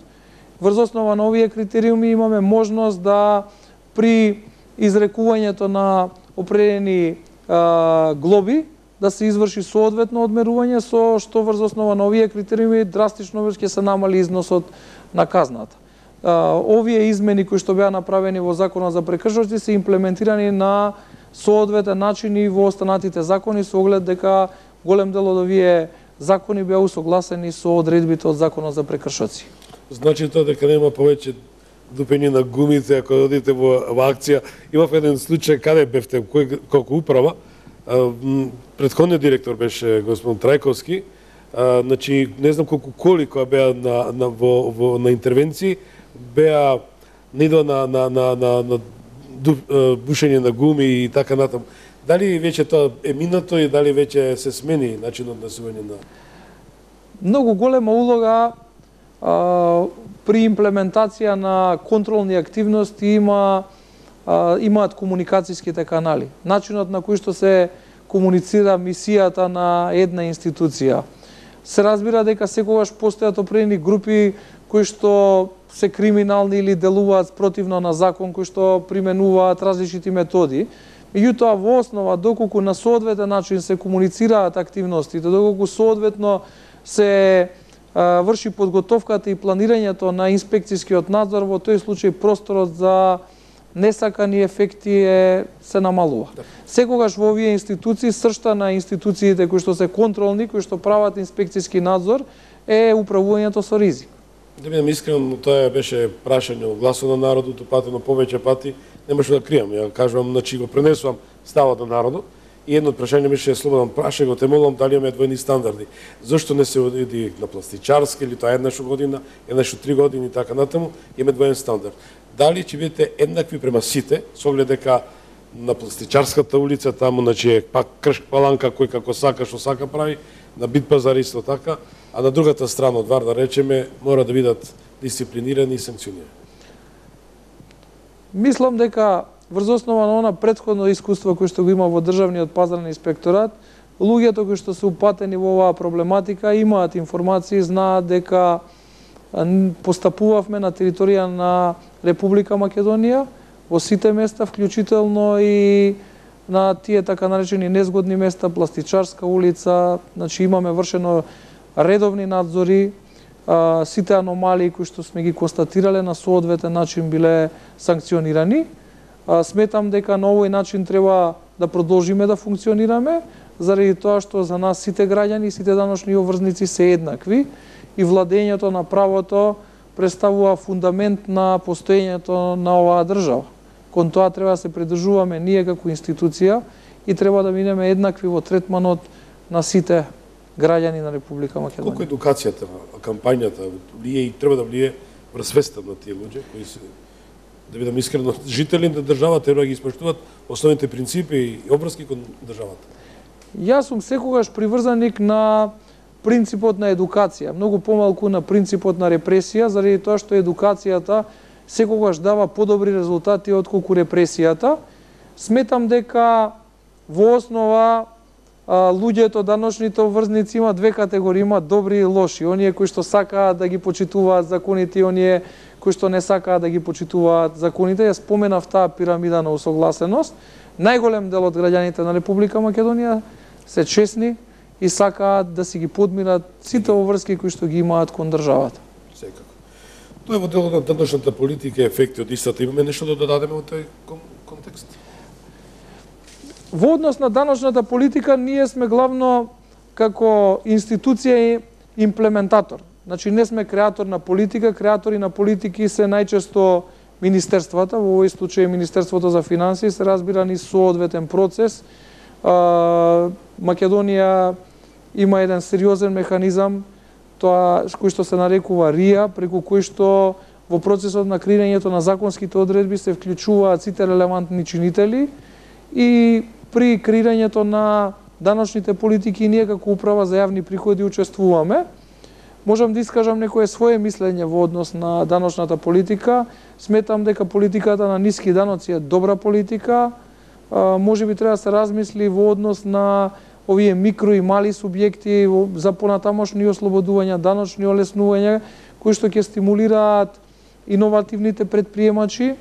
B: Врз основа на овие критериуми имаме можност да при изрекувањето на определени а, глоби да се изврши соодветно одмерување, со што врз основа на овие критериуми драстично ќе се намали износот на казната. Uh, овие измени кои што беа направени во Законот за прекршоци се имплементирани на соодветен начин и во останатите закони, со оглед дека голем дел од овие закони беа усогласени со одредбите од Законот за прекршоци.
A: Значи тоа дека нема повеќе дупење на гумите ако одите во, во акција. Имав еден случај каде бевте кој колку управа, претходниот директор беше господин Трајковски, а, значи не знам колку коли која беа на, на, во, во, на интервенции, беа не идва на, на, на, на, на ду, бушење на гуми и така натаму. Дали веќе тоа е минато и дали веќе се смени начинот на сување на...
B: Многу голема улога а, при имплементација на контролни активности има а, имаат комуникацијските канали. Начинот на кој што се комуницира мисијата на една институција. Се разбира дека секогаш постојат определени групи кои што се криминални или делуваат спротивно на закон, кои што применуваат различити методи. Меѓутоа, во основа, доколку на соодветен начин се комуницираат активностите, доколку соодветно се а, врши подготовката и планирањето на инспекцијскиот надзор, во тој случај просторот за несакани ефекти е, се намалува. Да. Секогаш во овие институции, сршта на институциите кои што се контролни, кои што прават инспекцијски надзор, е управувањето со ризик.
A: Да бидам искрен, тоа беше прашање од гласот на народот, упатено повеќе пати, немаше да кријам, ја кажувам, значи го пренесувам ставот на народот, и едно од прашање беше Слободан, праша го, те молам дали имаме двојни стандарди. Зошто не се оди на пластичарска или тоа еднаш година, еднаш три години и така натаму, имаме двоен стандард. Дали ќе бидете еднакви према сите, со оглед дека на пластичарската улица таму, значи е пак кршк паланка кој како сака, што сака прави, на Бит пазар исто така, а на другата страна од Вар, да речеме, мора да бидат дисциплинирани и санкционирани.
B: Мислам дека врз основа на она претходно искуство кој што го има во Државниот пазарен инспекторат, луѓето кои што се упатени во оваа проблематика имаат информации, знаат дека постапувавме на територија на Република Македонија, во сите места, вклучително и на тие така наречени незгодни места, пластичарска улица, значи имаме вршено редовни надзори, а, сите аномалии кои што сме ги констатирале на соодветен начин биле санкционирани. А, сметам дека на овој начин треба да продолжиме да функционираме, заради тоа што за нас сите граѓани, сите даночни обврзници се еднакви и владењето на правото представува фундамент на постоењето на оваа држава. Кон тоа треба да се придржуваме ние како институција и треба да минеме еднакви во третманот на сите граѓани на Република Македонија.
A: Колку едукацијата, кампањата влие и треба да влие врз свеста на тие луѓе кои се, да бидам искрено, жители на државата треба да ги испоштуваат основните принципи и обврски кон државата.
B: Јас сум секогаш приврзаник на принципот на едукација, многу помалку на принципот на репресија, заради тоа што едукацијата секогаш дава подобри резултати отколку репресијата. Сметам дека во основа а, луѓето, даночните обврзници има две категории, има добри и лоши. Оние кои што сакаат да ги почитуваат законите и оние кои што не сакаат да ги почитуваат законите. Ја споменав таа пирамида на усогласеност. Најголем дел од граѓаните на Република Македонија се честни и сакаат да си ги подмират сите обврски кои што ги имаат кон државата.
A: Секако. Тоа е во делот на денешната политика, ефекти од истата. Имаме нешто да додадеме во тој контекст?
B: Во однос на даночната политика, ние сме главно како институција и имплементатор. Значи, не сме креатор на политика, креатори на политики се најчесто министерствата, во овој случај Министерството за финансии, се разбира ни соодветен процес. Македонија има еден сериозен механизам, тоа кој што се нарекува РИА, преку кој што во процесот на креирањето на законските одредби се вклучуваат сите релевантни чинители и при креирањето на даночните политики ние како управа за јавни приходи учествуваме. Можам да искажам некое свое мислење во однос на даночната политика. Сметам дека политиката на ниски даноци е добра политика. Може би треба да се размисли во однос на овие микро и мали субјекти за понатамошни ослободувања, даночни олеснувања, кои што ќе стимулираат иновативните предприемачи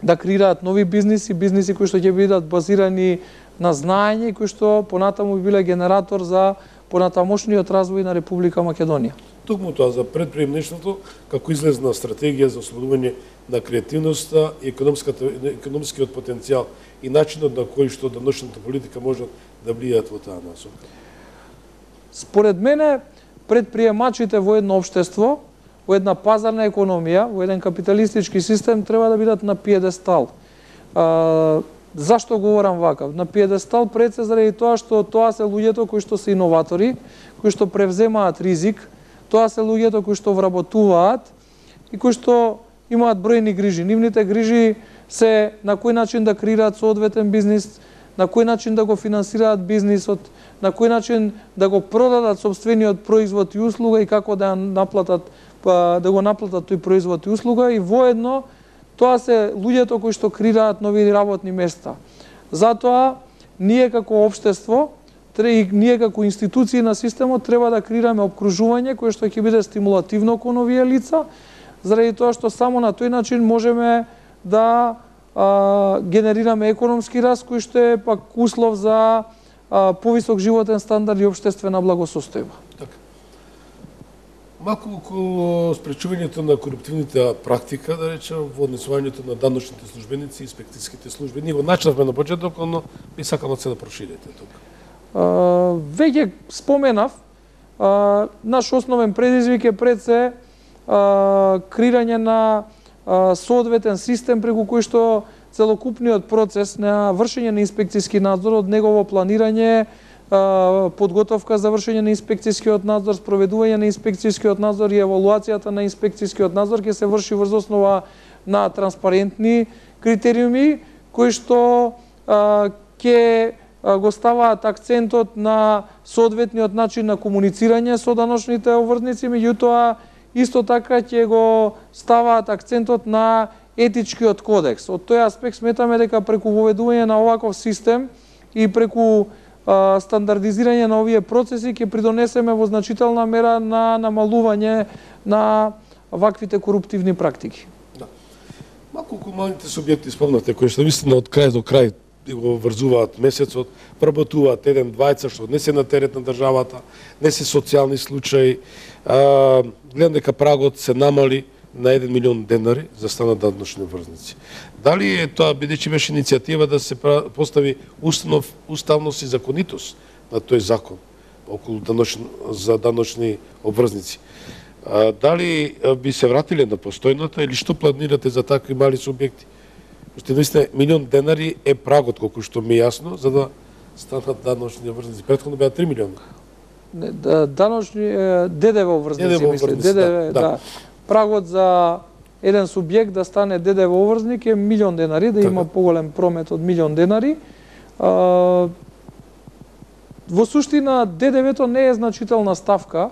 B: да креираат нови бизниси, бизниси кои што ќе бидат базирани на знаење и кои што понатаму биле генератор за понатамошниот развој на Република Македонија.
A: Токму тоа за предприемништвото, како излезна стратегија за ослободување на креативноста и економскиот потенцијал и начинот на кој што денешната политика може да влијаат во таа насока.
B: Според мене, предприемачите во едно општество, во една пазарна економија, во еден капиталистички систем треба да бидат на пиедестал. А, зашто говорам вакав? На пиедестал пред се заради тоа што тоа се луѓето кои што се иноватори, кои што превземаат ризик, тоа се луѓето кои што вработуваат и кои што имаат бројни грижи. Нивните грижи се на кој начин да креираат соодветен бизнис, на кој начин да го финансираат бизнисот, на кој начин да го продадат сопствениот производ и услуга и како да наплатат да го наплатат тој производ и услуга и воедно тоа се луѓето кои што креираат нови работни места. Затоа ние како општество, ние како институции на системот треба да креираме опкружување кое што ќе биде стимулативно кон овие лица, заради тоа што само на тој начин можеме да а, генерираме економски раст кој што е пак услов за а, повисок животен стандард и општествена благосостојба.
A: Така. Малку околу спречувањето на коруптивните практика, да речем, во однесувањето на даночните службеници и инспекцијските служби. Ние го начнавме на почеток, но би сакам се да проширите тука.
B: Uh, веќе споменав, uh, наш основен предизвик е пред се uh, креирање на uh, соодветен систем преку кој што целокупниот процес на вршење на инспекцијски надзор, од негово планирање, подготовка за вршење на инспекцијскиот надзор, спроведување на инспекцијскиот надзор и евалуацијата на инспекцијскиот надзор ќе се врши врз основа на транспарентни критериуми кои што ќе го ставаат акцентот на соодветниот начин на комуницирање со даночните обврзници, меѓутоа исто така ќе го ставаат акцентот на етичкиот кодекс. Од тој аспект сметаме дека преку воведување на оваков систем и преку стандардизирање на овие процеси ќе придонесеме во значителна мера на намалување на ваквите коруптивни практики.
A: Да. Малку комуналните субјекти спомнате, кои што вистина од крај до крај го врзуваат месецот, вработуваат еден двајца што не се на терет на државата, не се социјални случаи. А, гледам дека прагот се намали на еден милион денари за станат даночни обврзници. Дали е тоа, бидејќи беше иницијатива да се постави установ, уставност и законитост на тој закон околу даночни, за даночни обврзници? А, дали би се вратиле на постојната или што планирате за такви мали субјекти? Што наистина милион денари е прагот, колку што ми е јасно, за да станат даночни обврзници. Претходно беа три милиона.
B: Не, да, даночни ДДВ обврзници, мисле, ДДВ, да. да. Прагот за еден субјект да стане ДДВ обврзник е милион денари, да има поголем промет од милион денари. А, во суштина ДДВ-то не е значителна ставка,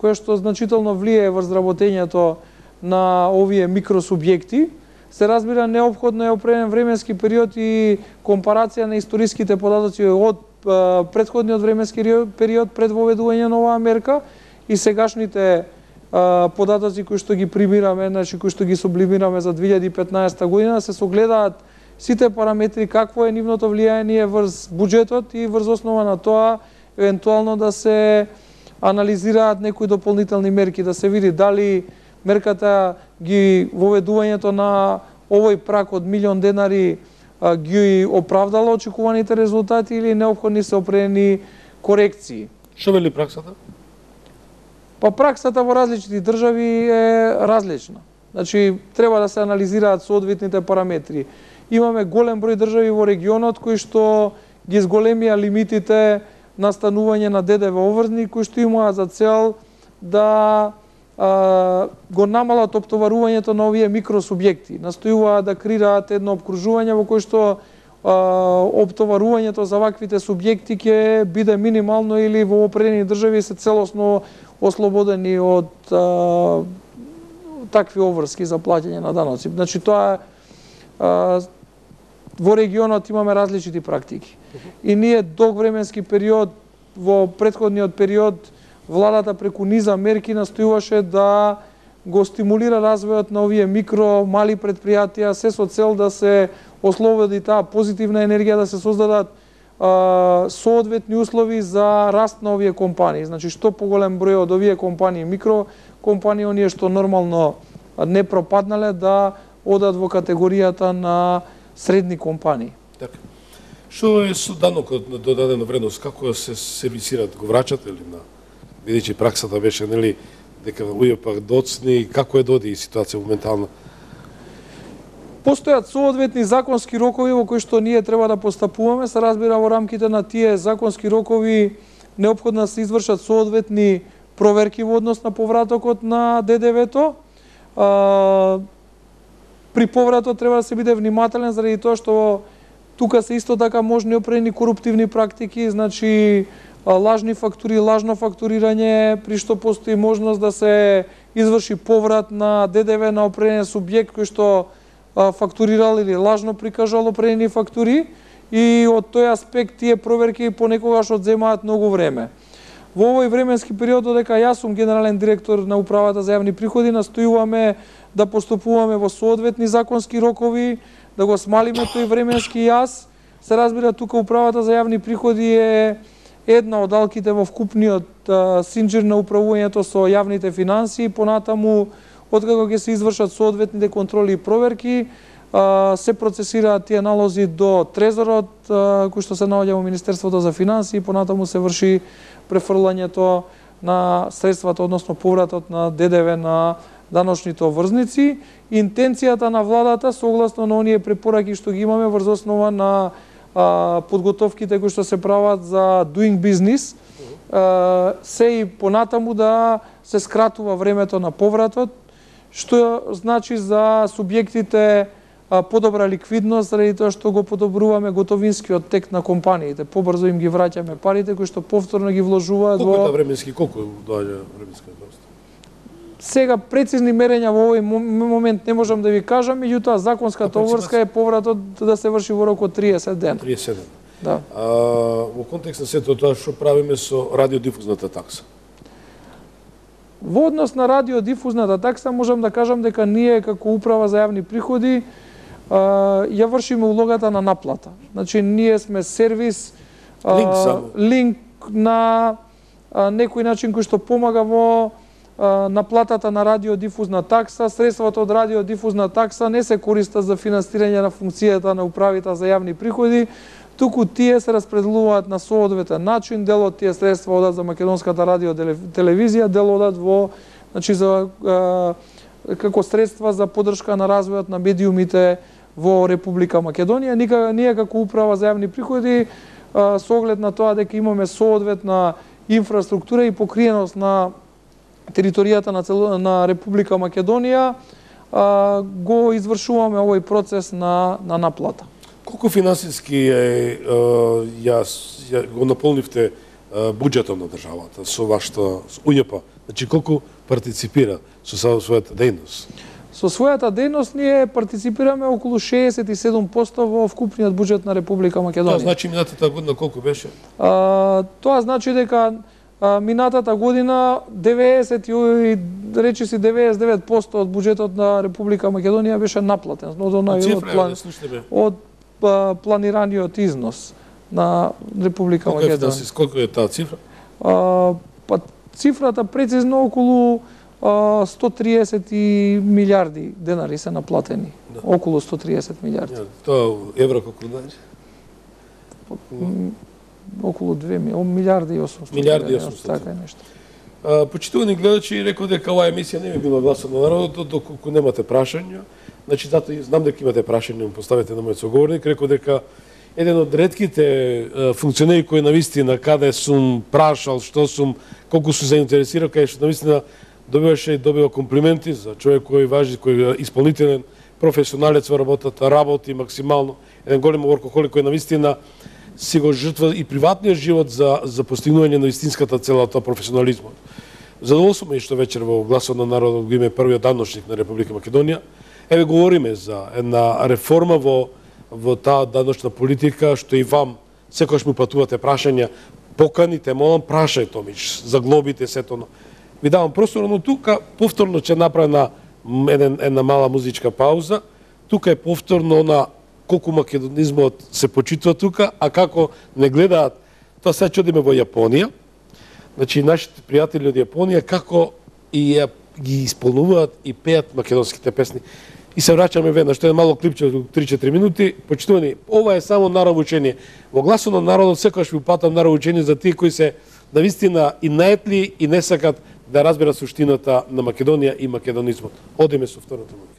B: која што значително влијае врз работењето на овие микросубјекти. Се разбира, неопходно е определен временски период и компарација на историските податоци од а, претходниот временски период пред воведување на оваа мерка и сегашните податоци кои што ги примираме, значи кои што ги сублимираме за две илјади и петнаесетта година, се согледаат сите параметри, какво е нивното влијање врз буџетот и врз основа на тоа евентуално да се анализираат некои дополнителни мерки, да се види дали мерката ги воведувањето на овој прак од милион денари ги оправдало очекуваните резултати или неопходни се определени корекции.
A: Што вели праксата?
B: Па праксата во различити држави е различна. Значи, треба да се анализираат соодветните параметри. Имаме голем број држави во регионот кои што ги зголемија лимитите на станување на ДДВ обврзник, кои што имаат за цел да а, го намалат оптоварувањето на овие микросубјекти. Настојуваат да креираат едно обкружување во кој што а, оптоварувањето за ваквите субјекти ќе биде минимално или во определени држави се целосно ослободени од а, такви обврски за плаќање на даноци. Значи, тоа а, во регионот имаме различити практики. И ние долг временски период, во претходниот период, владата преку низа мерки настојуваше да го стимулира развојот на овие микро, мали предпријатија, се со цел да се ослободи таа позитивна енергија, да се создадат соодветни услови за раст на овие компании. Значи, што поголем број од овие компании, микрокомпании, оние што нормално не пропаднале, да одат во категоријата на средни компании.
A: Така. Што е со данокот на додадена вредност? Како се сервисираат? Го врачате ли на... Бидејќи праксата беше, нели, дека ује пак доцни, како е доди ситуација моментално?
B: Постојат соодветни законски рокови во кои што ние треба да постапуваме, се разбира во рамките на тие законски рокови неопходно да се извршат соодветни проверки во однос на повратокот на ДДВ-то. При повратот треба да се биде внимателен заради тоа што тука се исто така можни определени коруптивни практики, значи лажни фактури, лажно фактурирање, при што постои можност да се изврши поврат на ДДВ на определен субјект кој што фактурирал или лажно прикажал определени фактури и од тој аспект тие проверки понекогаш одземаат многу време. Во овој временски период, додека јас сум генерален директор на Управата за јавни приходи, настојуваме да поступуваме во соодветни законски рокови, да го смалиме тој временски јас. Се разбира, тука Управата за јавни приходи е една од алките во вкупниот синџир на управувањето со јавните финансии, понатаму откако ќе се извршат соодветните контроли и проверки, се процесираат тие налози до Трезорот, кој што се наоѓа во Министерството за финансии, понатаму се врши префрлањето на средствата, односно повратот на ДДВ на даночните обврзници. Интенцијата на владата, согласно на оние препораки што ги имаме врз основа на а, подготовките кои што се прават за doing business, а, се и понатаму да се скратува времето на повратот, што значи за субјектите а, подобра ликвидност, заради тоа што го подобруваме готовинскиот тек на компаниите. Побрзо им ги враќаме парите кои што повторно ги вложуваат
A: колку
B: во...
A: Колку е временски, колку доаѓа временска доста?
B: Сега прецизни мерења во овој момент не можам да ви кажам, меѓутоа законската обврска е повратот да се врши во рок од триесет дена.
A: триесет дена.
B: Да.
A: А, во контекст на сето тоа што правиме со радиодифузната такса?
B: Во однос на радиодифузната такса можам да кажам дека ние како управа за јавни приходи а, ја вршиме улогата на наплата. Значи ние сме сервис, а,
A: линк, само.
B: линк на а, некој начин кој што помага во наплатата на радиодифузна такса. Средствата од радиодифузна такса не се користат за финансирање на функцијата на управите за јавни приходи, туку тие се распределуваат на соодветен начин. Дел од тие средства одат за македонската радио телевизија, дел одат во, значи за а, како средства за поддршка на развојот на медиумите во Република Македонија. Ника, ние како управа за јавни приходи а, со оглед на тоа дека имаме соодветна инфраструктура и покриеност на територијата на, цел... на Република Македонија, а, го извршуваме овој процес на, на наплата.
A: Колку финансиски е, ја, ја го наполнивте буџетот на државата со вашата У Ј П? Значи колку партиципира со својата дејност?
B: Со својата дејност ние партиципираме околу шеесет и седум проценти во вкупниот буџет на Република Македонија.
A: Тоа значи минатата година колку беше?
B: А, тоа значи дека а, минатата година деветдесет и речиси деветдесет и девет проценти од буџетот на Република Македонија беше наплатен од онај од, план, од а, планираниот износ на Република
A: колку
B: Македонија.
A: Е, колку е таа цифра?
B: А, па цифрата прецизно околу а, сто триесет милиарди денари се наплатени. Да. Околу сто триесет милиарди.
A: Ja, тоа евро колку значи?
B: Околу две милиарди и осумстотини.
A: Милиарди и осумстотини.
B: Така е нешто.
A: Почитувани гледачи, реков дека оваа емисија не би била гласот на народот доколку немате прашања. Значи, затоа знам дека имате прашања, му поставете на мојот соговорник. Реков дека еден од ретките функционери кои навистина каде сум прашал, што сум, колку сум заинтересиран, кај што навистина добиваше и добива комплименти за човек кој важи, кој е исполнителен, професионалец во работата, работи максимално, еден голем воркохолик кој навистина си го жртва и приватниот живот за за постигнување на вистинската цела, тоа професионализмот. Задоволствуваме и што вечер во гласот на народот го име првиот даночник на Република Македонија. Еве говориме за една реформа во во таа даночна политика, што и вам секогаш му патувате прашања, поканите, молам, прашај Томич, за глобите, сето. Ви давам простор, но тука повторно ќе направи еден една мала музичка пауза. Тука е повторно на колку македонизмот се почитува тука, а како не гледаат, тоа се чудиме во Јапонија. Значи, нашите пријатели од Јапонија како и ја, ги исполнуваат и пеат македонските песни. И се враќаме веднаш, што е мало клипче од три-четири минути. Почитувани, ова е само наравучение. Во гласот на народот секогаш ви упатам наравучение за тие кои се навистина и наетли и не сакат да разберат суштината на Македонија и македонизмот. Одиме со втората музика.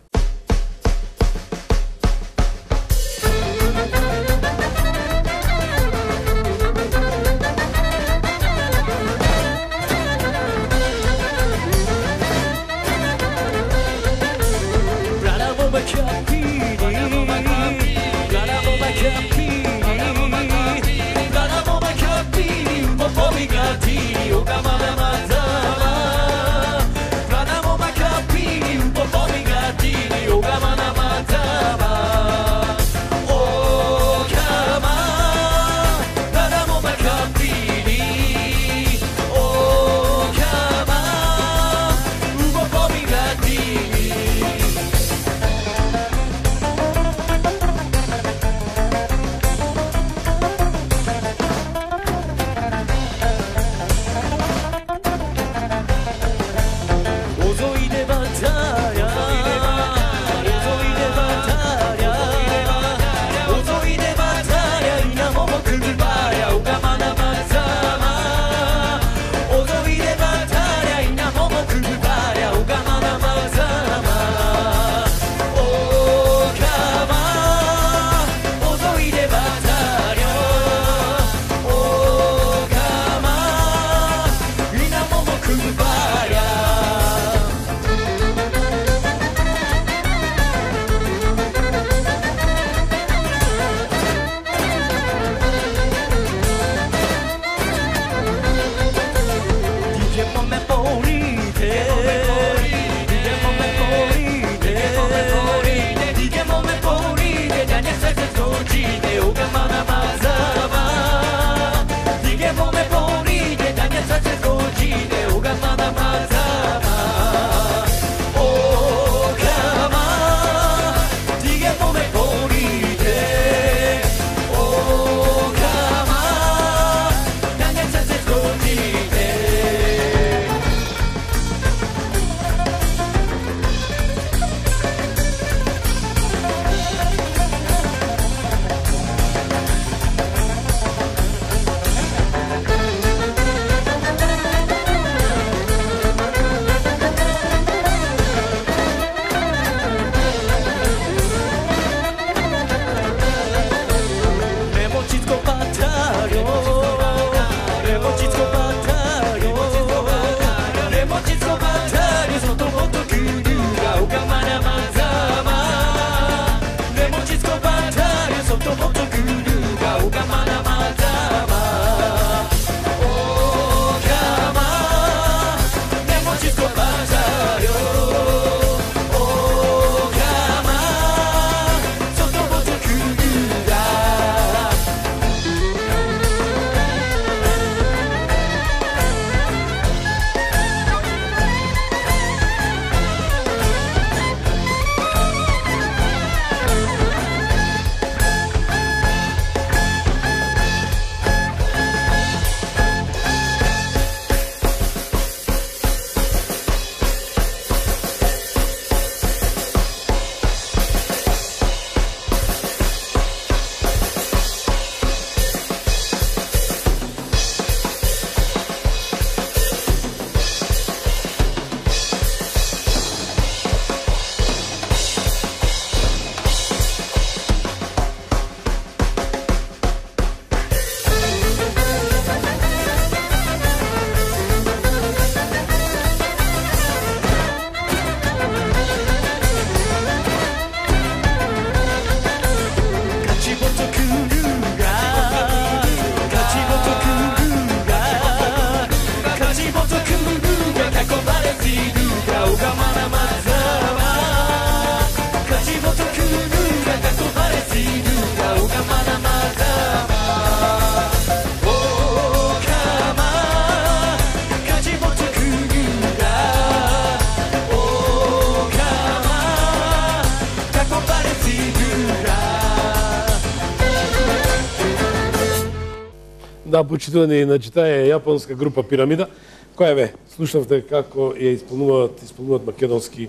A: Да, почитувани, значи таа е јапонска група Пирамида, која ве, слушавте како ја исполнуваат, исполнуваат македонски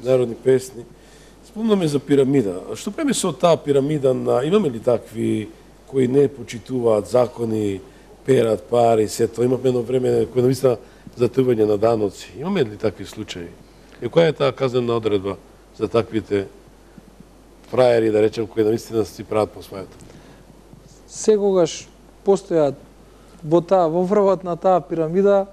A: народни песни. Спомнаме за Пирамида. Што преме со таа Пирамида, на имаме ли такви кои не почитуваат закони, перат пари, се тоа? Имаме едно време кој навистина затъвање на даноци. Имаме ли такви случаи? И која е таа казнена одредба за таквите фраери, да речем, кои навистина си прават по својата?
B: Секогаш постојат во таа, во врвот на таа пирамида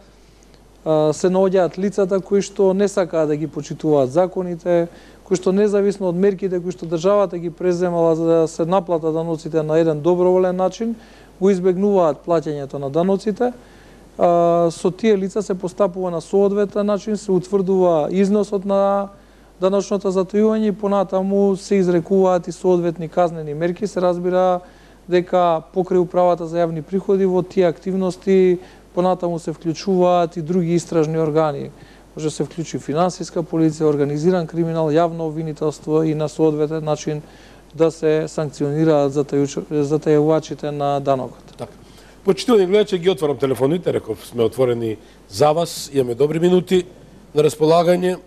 B: се наоѓаат лицата кои што не сакаат да ги почитуваат законите, кои што независно од мерките кои што државата ги преземала за да се наплатат даноците на еден доброволен начин, го избегнуваат плаќањето на даноците. Со тие лица се постапува на соодветен начин, се утврдува износот на даночното затојување и понатаму се изрекуваат и соодветни казнени мерки. Се разбира дека покрај управата за јавни приходи во тие активности понатаму се вклучуваат и други истражни органи. Може се вклучи финансиска полиција, организиран криминал, јавно обвинителство и на соодветен начин да се санкционираат затајувачите на данокот.
A: Така. Почитувани гледачи, ги отварам телефоните, реков сме отворени за вас, имаме добри минути на располагање,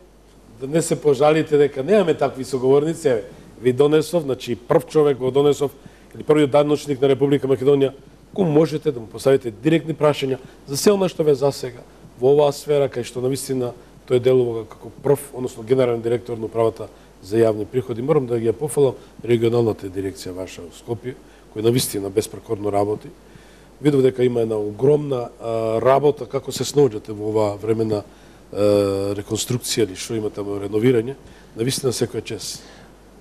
A: да не се пожалите дека немаме такви соговорници. Еве, ви донесов, значи прв човек го донесов, или првиот даночник на Република Македонија, кој можете да му поставите директни прашања за се она што ве засега во оваа сфера, кај што навистина тој делува како прв, односно генерален директор на управата за јавни приходи. Морам да ги пофалам регионалната дирекција ваша во Скопје, која навистина безпрекорно работи. Видов дека има една огромна а, работа како се снаоѓате во оваа време на а, реконструкција или што има таму реновирање. Навистина секоја чест.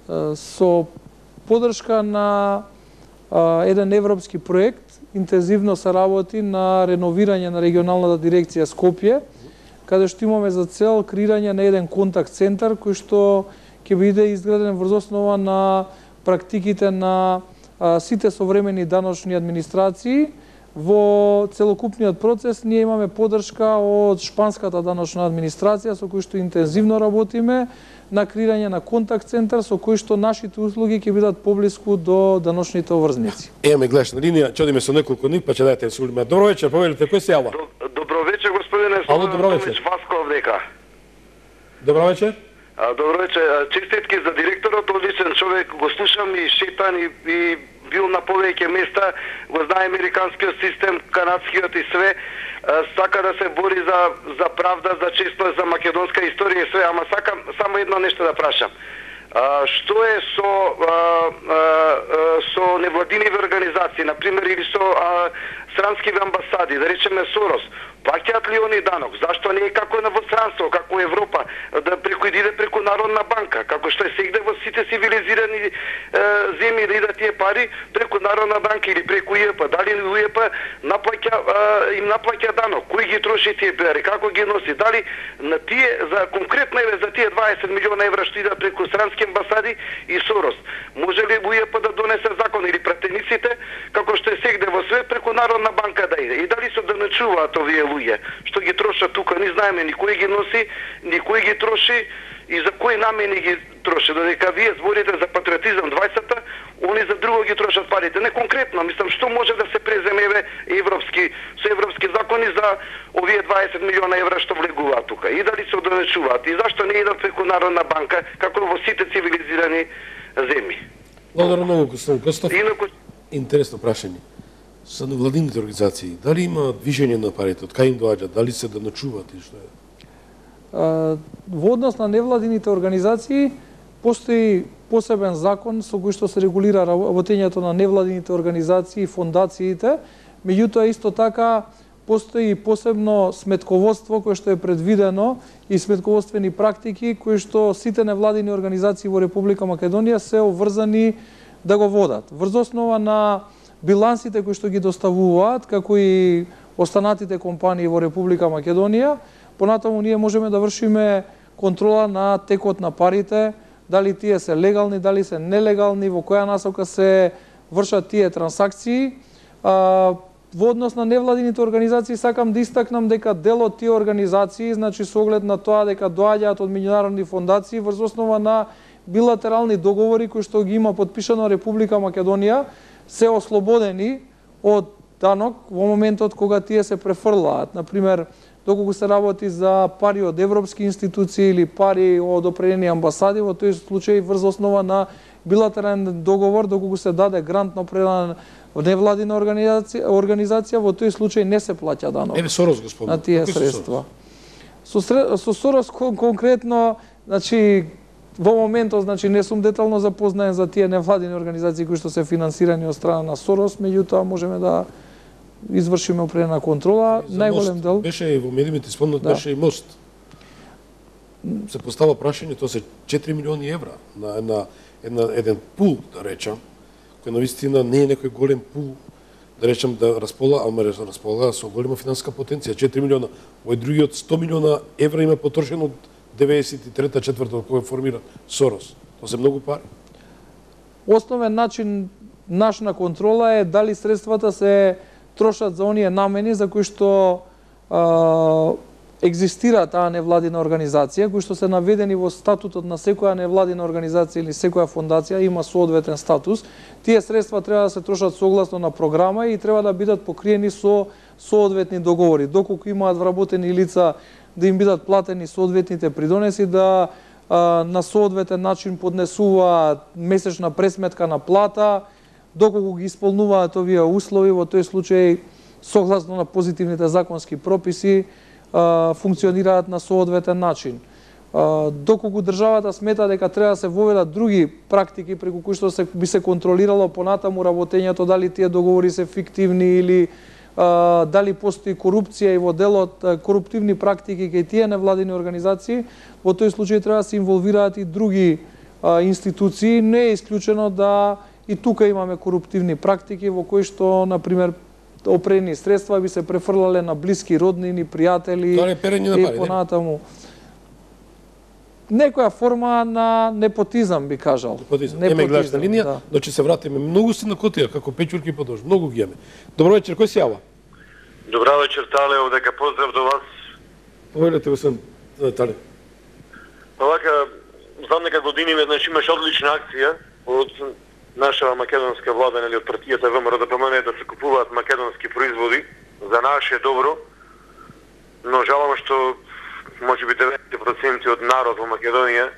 B: Со поддршка на а, еден европски проект интензивно се работи на реновирање на регионалната дирекција Скопје, каде што имаме за цел креирање на еден контакт центар кој што ќе биде изграден врз основа на практиките на а, сите современи даночни администрации. Во целокупниот процес ние имаме поддршка од шпанската даночна администрација со кој што интензивно работиме на креирање на контакт центар со кој што нашите услуги ќе бидат поблиску до даночните обврзници.
A: Еме гледаш на линија, чодиме со неколку нив, па ќе дадете сулиме. Добро вечер, повелите, кој се јава?
C: Добро вечер, господине.
A: Ало, добро вечер.
C: Васков дека.
A: Добро вечер.
C: Добро вечер. Честитки за директорот, одличен човек, го слушам и шетан и, и бил на повеќе места, го знае американскиот систем, канадскиот и све. Сака да се бори за, за правда, за честност, за македонска историја и све, ама сакам само едно нешто да прашам. А, што е со а, а, со невладиниви организации, например, или со а, странскиви амбасади, да речеме Сорос, плаќаат ли они данок? Зашто не е како на во странство, како Европа, да преку иде преку Народна банка, како што е сегде во сите цивилизирани е, земји да идат тие пари преку Народна банка или преку УЕП, дали УЕП наплаќа е, им наплаќа данок, кој ги троши тие пари, како ги носи, дали на тие за конкретно еве за тие дваесет милиона евра што идат преку странски амбасади и Сорос, може ли УЕП да донесе закон или пратениците како што е сегде во свет преку Народна банка да иде, и дали се доначуваат овие луѓе што ги трошат тука, не знаеме ни кој ги носи, ни кој ги троши и за кои намени ги троши, додека вие зборите за патриотизам дваесетта, они за друго ги трошат парите. Не конкретно, мислам, што може да се преземеве европски, со европски закони за овие дваесет милиона евра што влегуваат тука, и дали се одонечуваат, и зашто не идат преку Народна банка, како во сите цивилизирани земји.
A: Благодарам многу, господин Костов.
C: Инаку...
A: Интересно прашање. Со невладините организации, дали има движење на парите, од кај им доаѓаат, дали се да ночуваат и што е?
B: Во однос на невладините организации постои посебен закон со кој што се регулира работењето на невладините организации и фондациите, меѓутоа исто така постои посебно сметководство кое што е предвидено и сметководствени практики кои што сите невладини организации во Република Македонија се обврзани да го водат. Врз основа на билансите кои што ги доставуваат, како и останатите компании во Република Македонија, понатаму ние можеме да вршиме контрола на текот на парите, дали тие се легални, дали се нелегални, во која насока се вршат тие трансакции. А, во однос на невладините организации сакам да истакнам дека дел од тие организации, значи со оглед на тоа дека доаѓаат од меѓународни фондации врз основа на билатерални договори кои што ги има подпишано Република Македонија, се ослободени од данок во моментот кога тие се префрлаат. Например, доколку се работи за пари од европски институции или пари од определени амбасади, во тој случај врз основа на билатерален договор, доколку се даде грант на определена невладина организација, организација, во тој случај не се плаќа данок.
A: Еве Сорос господин.
B: На тие средства. Со, со Сорос конкретно, значи, во моментот, значи, не сум детално запознаен за тие невладини организации кои што се финансирани од страна на Сорос, меѓутоа можеме да извршиме определена контрола. Најголем дел
A: беше и во медиумите спомнат,
B: да.
A: беше и мост. Се постава прашање, тоа се четири милиони евра на една, една еден пул, да речам, кој навистина не е некој голем пул, да речам да располага, ама располага со голема финансиска потенција, четири милиона. Овој другиот сто милиона евра има потрошено од деветдесет и трета четврта кога формира Сорос. Тоа се многу пари.
B: Основен начин наш на контрола е дали средствата се трошат за оние намени за кои што а, екзистира таа невладина организација, кои што се наведени во статутот на секоја невладина организација или секоја фондација, има соодветен статус. Тие средства треба да се трошат согласно на програма и треба да бидат покриени со соодветни договори. Доколку имаат вработени лица да им бидат платени соодветните придонеси, да а, на соодветен начин поднесуваат месечна пресметка на плата, доколку ги исполнуваат овие услови, во тој случај согласно на позитивните законски прописи а, функционираат на соодветен начин. А, доколку државата смета дека треба да се воведат други практики преку кои што се би се контролирало понатаму работењето, дали тие договори се фиктивни или а, дали постои корупција и во делот коруптивни практики кај тие невладини организации, во тој случај треба да се инволвираат и други а, институции. Не е исклучено да и тука имаме коруптивни практики во кои што, например, определени средства би се префрлале на блиски роднини, пријатели и понатаму. Некоја форма на непотизам, би кажал.
A: Непотизам. Еме гледачна линија, да. Но ќе се вратиме. Многу си на котија, како печурки подолж. Многу ги еме. Добро вечер, кој се јава?
E: Добро вечер, Тале, овдека поздрав до вас.
A: Повелете го сам, Тале.
E: Овака, знам дека години веднаш имаш одлична акција од наша македонска влада, нели, од партијата ВМРО да помене да се купуваат македонски производи за наше добро, но жалам што можеби деветдесет проценти од народ во Македонија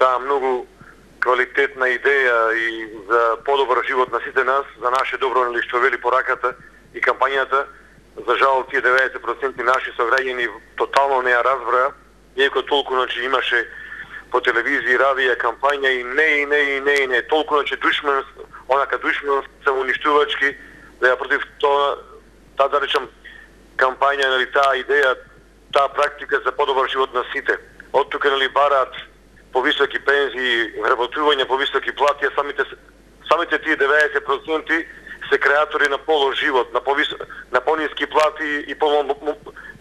E: таа многу квалитетна идеја и за подобар живот на сите нас, за наше добро, нели, што вели пораката и кампањата, за жал тие деветдесет проценти наши сограѓани тотално не ја разбраа, иако толку, значи, имаше по телевизија, радија, кампања и не, и не, и не, и не. Толку, значи, душман, онака душман, самоуништувачки, да ја против тоа, таа, да речам, кампања, нели, таа идеја, таа практика за подобар живот на сите. Од тука, нели, бараат повисоки пензии, вработување, повисоки плати, а самите, самите тие деветдесет проценти се креатори на полош живот, на, повис... на пониски плати и полон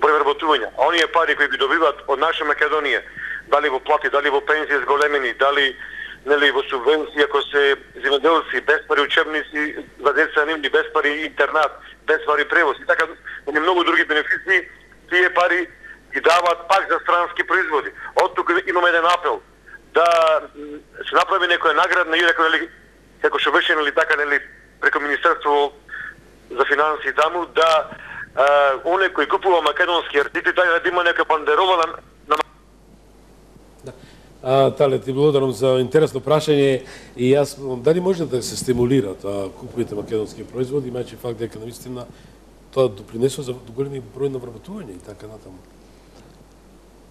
E: број вработувања. А оние пари кои ги добиваат од наша Македонија, дали во плати, дали во пензии зголемени, дали, нели, во субвенции, ако се земјоделци, без пари учебници за деца нивни, без пари интернат, без пари превоз и така, и многу други бенефиции, тие пари ги даваат пак за странски производи. Од тука имаме еден апел да се направи некоја наградна и некој, нели, како што беше, нели, така, нели, преку Министерство за финансии таму, да а, оне кои купува македонски артикли, да има нека бандерола на, на...
A: Да. А, Тале, ти благодарам за интересно прашање и јас, дали може да се стимулира тоа купувате македонски производи, имајќи факт дека наистина тоа допринесува за големи број на вработување и така натаму.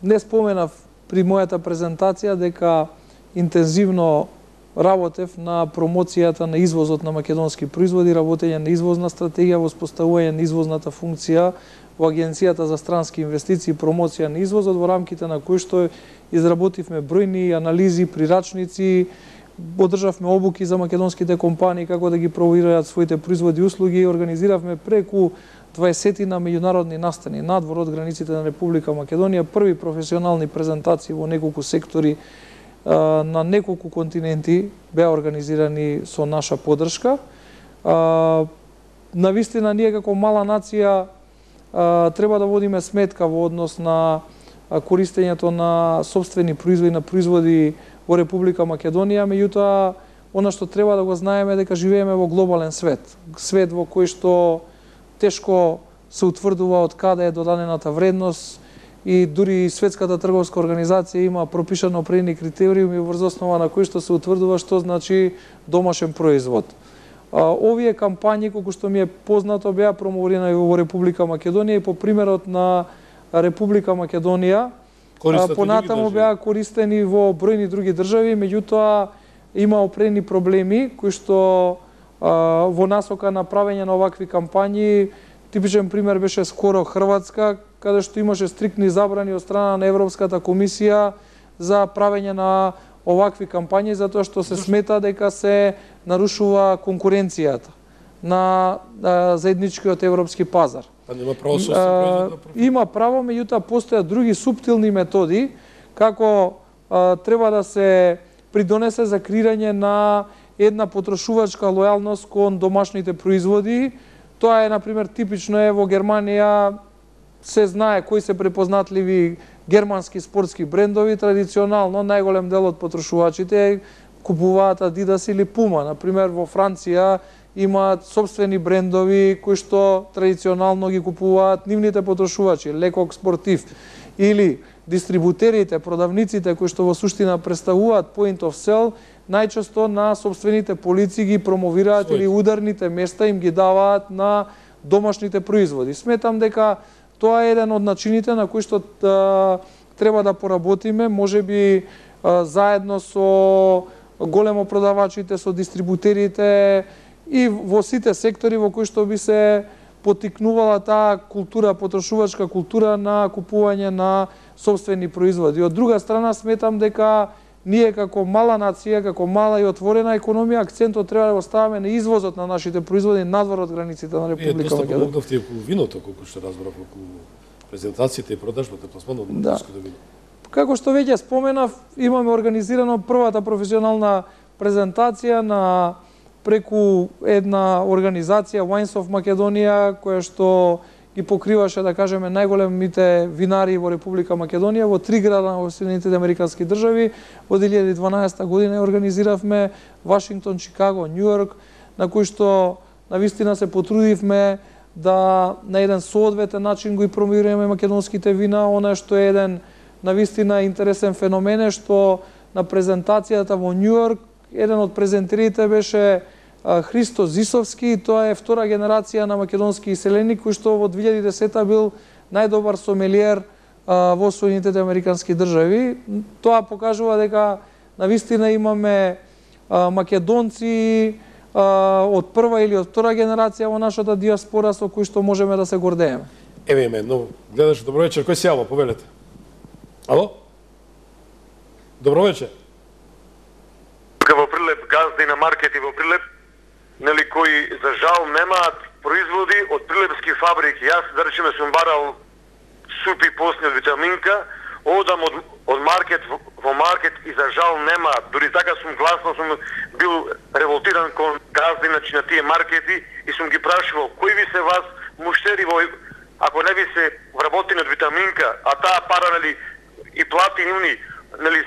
B: Не споменав при мојата презентација дека интензивно работев на промоцијата на извозот на македонски производи, работење на извозна стратегија, воспоставување на извозната функција во Агенцијата за странски инвестиции и промоција на извозот, во рамките на кој што изработивме бројни анализи, прирачници, одржавме обуки за македонските компании како да ги провираат своите производи и услуги, организиравме преку дваесетина меѓународни настани надвор од границите на Република Македонија, први професионални презентации во неколку сектори на неколку континенти беа организирани со наша поддршка. Навистина, ние како мала нација треба да водиме сметка во однос на користењето на собствени производи, на производи во Република Македонија, меѓутоа, она што треба да го знаеме дека живееме во глобален свет. Свет во кој што тешко се утврдува од каде е додадената вредност и дури Светската трговска организација има пропишано определени критериуми врз основа на кои што се утврдува што значи домашен производ. Овие кампањи, колку што ми е познато, беа промовирани во Република Македонија и по примерот на Република Македонија, понатаму беа користени во бројни други држави, меѓутоа има определени проблеми кои што во насока на правење на овакви кампањи. Типичен пример беше скоро Хрватска, каде што имаше стриктни забрани од страна на Европската комисија за правење на овакви кампањи, затоа што се смета дека се нарушува конкуренцијата на заедничкиот европски пазар.
A: А нема право собствено?
B: Има право, меѓутоа постојат други суптилни методи како а, треба да се придонесе за креирање на една потрошувачка лојалност кон домашните производи. Тоа е, например, типично е во Германија, се знае кои се препознатливи германски спортски брендови. Традиционално најголем дел од потрошувачите купуваат Adidas или Puma. Например, во Франција имаат собствени брендови кои што традиционално ги купуваат нивните потрошувачи, Лекок Спортив, или дистрибутерите, продавниците кои што во суштина представуваат point of sale, најчесто на собствените полици ги промовираат или ударните места им ги даваат на домашните производи. Сметам дека тоа е еден од начините на кои што а, треба да поработиме, можеби а, заедно со големо продавачите, со дистрибутерите и во сите сектори во кои што би се потикнувала таа култура, потрошувачка култура на купување на собствени производи. Од друга страна, сметам дека ние како мала нација, како мала и отворена економија, акцентот треба да го ставаме на извозот на нашите производи надвор од границите на Република Македонија.
A: Вие доста помогнавте околу виното, колку што разбрав, околу презентациите и продажбата, пласманот на македонското вино.
B: Како што веќе споменав, имаме организирано првата професионална презентација на преку една организација Wines of Македонија, која што ги покриваше, да кажеме, најголемите винари во Република Македонија, во три града во Соединетите американски држави. Во две илјади и дванаесета година организиравме Вашингтон, Чикаго, Њујорк, на кои што навистина се потрудивме да на еден соодветен начин го и промовираме македонските вина. Она што е еден навистина интересен феномен е што на презентацијата во Њујорк еден од презентерите беше Христо Зисовски, тоа е втора генерација на македонски иселеник, кој што во две илјади и десета бил најдобар сомелиер во Соединетите американски држави. Тоа покажува дека навистина имаме македонци од прва или од втора генерација во нашата диаспора со кои што можеме да се гордееме.
A: Еве име, но гледаш, добро вечер, кој се јава, повелете? Ало? Добро вечер.
E: Во Прилеп, газди на маркети во Прилеп, нели, кои за жал немаат производи од прилепски фабрики. Јас, да речеме, сум барал супи посни од витаминка, одам од, од маркет во, во маркет и за жал немаат. Дури така сум гласно, сум бил револтиран кон газди значи, на тие маркети и сум ги прашувал, кои ви се вас муштери во, ако не ви се вработени од витаминка, а таа пара, нели, и плати нивни, нели,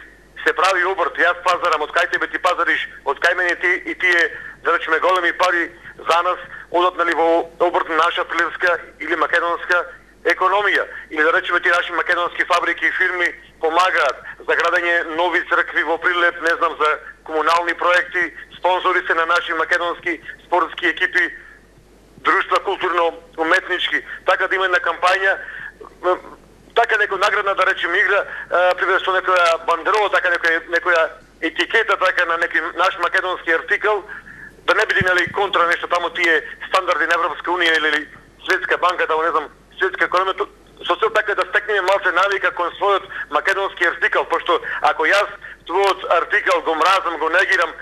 E: се прави обрт, јас пазарам, од кај тебе ти пазариш, од кај мене ти и тие, да речеме, големи пари за нас, одат, нали, во обрт на наша прилепска или македонска економија. Или да речеме, ти наши македонски фабрики и фирми помагаат за градење нови цркви во Прилеп, не знам, за комунални проекти, спонзори се на наши македонски спортски екипи, друштва културно-уметнички. Така да има една кампања, така некоја наградна, да речем, игра, пример со некоја бандерола, така некоја, некоја етикета, така на некој наш македонски артикал, да не биде, нели, контра нешто тамо тие стандарди на Европска унија или Светска банка, да не знам, светска економија, со цел така да стекнеме малце навика кон својот македонски артикал, пошто ако јас твојот артикал го мразам, го негирам,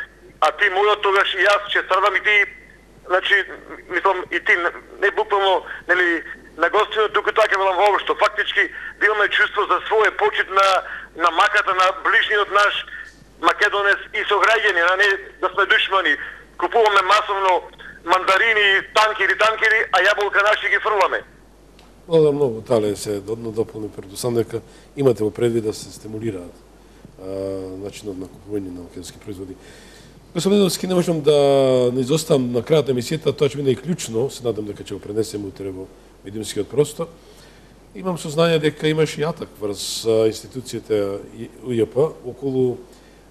E: а ти мојот, тогаш и јас ќе страдам и ти, значи, мислам, и ти не буквално, нели, на гостино, туку така велам воопшто, фактички да имаме чувство за своје почит на, на маката на ближниот наш македонец и сограѓани, а не да сме душмани. Купуваме масовно мандарини, танкери, танкери, а јаболка наши ги фрламе.
A: Да, многу тале се додно дополни, предусам дека имате во предвид да се стимулираат а, начинот на купување на македонски производи. Господин Миновски, не можам да не изоставам на крајот на емисијата, тоа ќе биде и клучно, се надам дека ќе го пренесеме утре во медиумскиот простор. Имам сознание дека имаш и атак врз институцијата УЈП околу,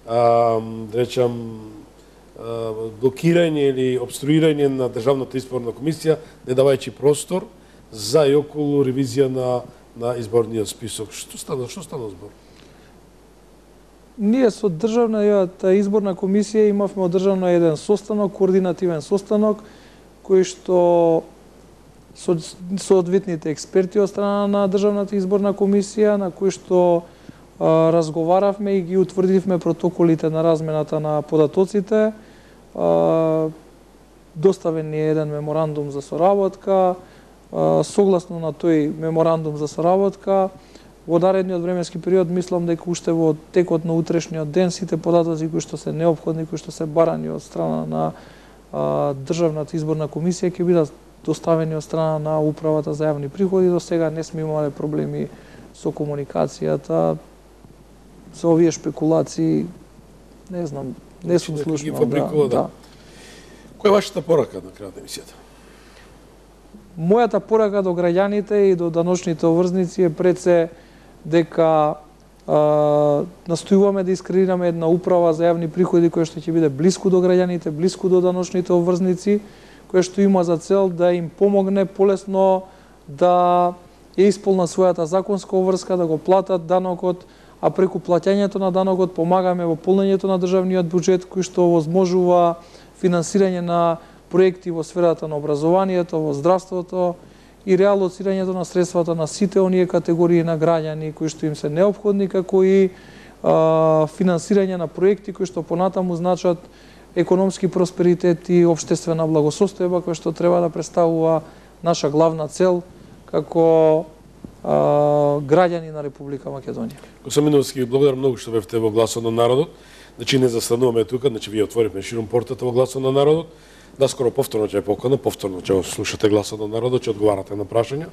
A: а, да речам, а, блокирање или обструирање на Државната изборна комисија, не давајќи простор за и околу ревизија на, на изборниот список. Што стана, што стана збор?
B: Ние со Државната изборна комисија имавме одржано еден состанок, координативен состанок, кој што со соодветните експерти од страна на Државната изборна комисија, на кој што а, разговаравме и ги утврдивме протоколите на размената на податоците. А, доставен ни е еден меморандум за соработка. А, согласно на тој меморандум за соработка, во наредниот временски период мислам дека уште во текот на утрешниот ден сите податоци кои што се неопходни, кои што се барани од страна на а, Државната изборна комисија ќе бидат доставени од страна на Управата за јавни приходи. До сега не сме имале проблеми со комуникацијата, со овие шпекулации, не знам, не сум слушнал.
A: Да, да. да. Која е вашата порака на крајот на емисијата?
B: Мојата порака до граѓаните и до даночните обврзници е пред се дека а, настојуваме да искреираме една управа за јавни приходи која што ќе биде блиску до граѓаните, блиску до даночните обврзници, која што има за цел да им помогне полесно да ја исполнат својата законска обврска, да го платат данокот, а преку плаќањето на данокот помагаме во полнењето на државниот буџет кој што возможува финансирање на проекти во сферата на образованието, во здравството и реалоцирањето на средствата на сите оние категории на граѓани кои што им се неопходни, како и а, финансирање на проекти кои што понатаму значат економски просперитет и општествена благосостојба, која што треба да представува наша главна цел како а, граѓани на Република Македонија.
A: Господин Миновски, благодарам многу што бевте во Гласот на народот. Значи не застануваме тука, значи вие отворивме широм портата во Гласот на народот. Наскоро повторно ќе покана, повторно ќе слушате Гласот на народот, ќе одговарате на прашања.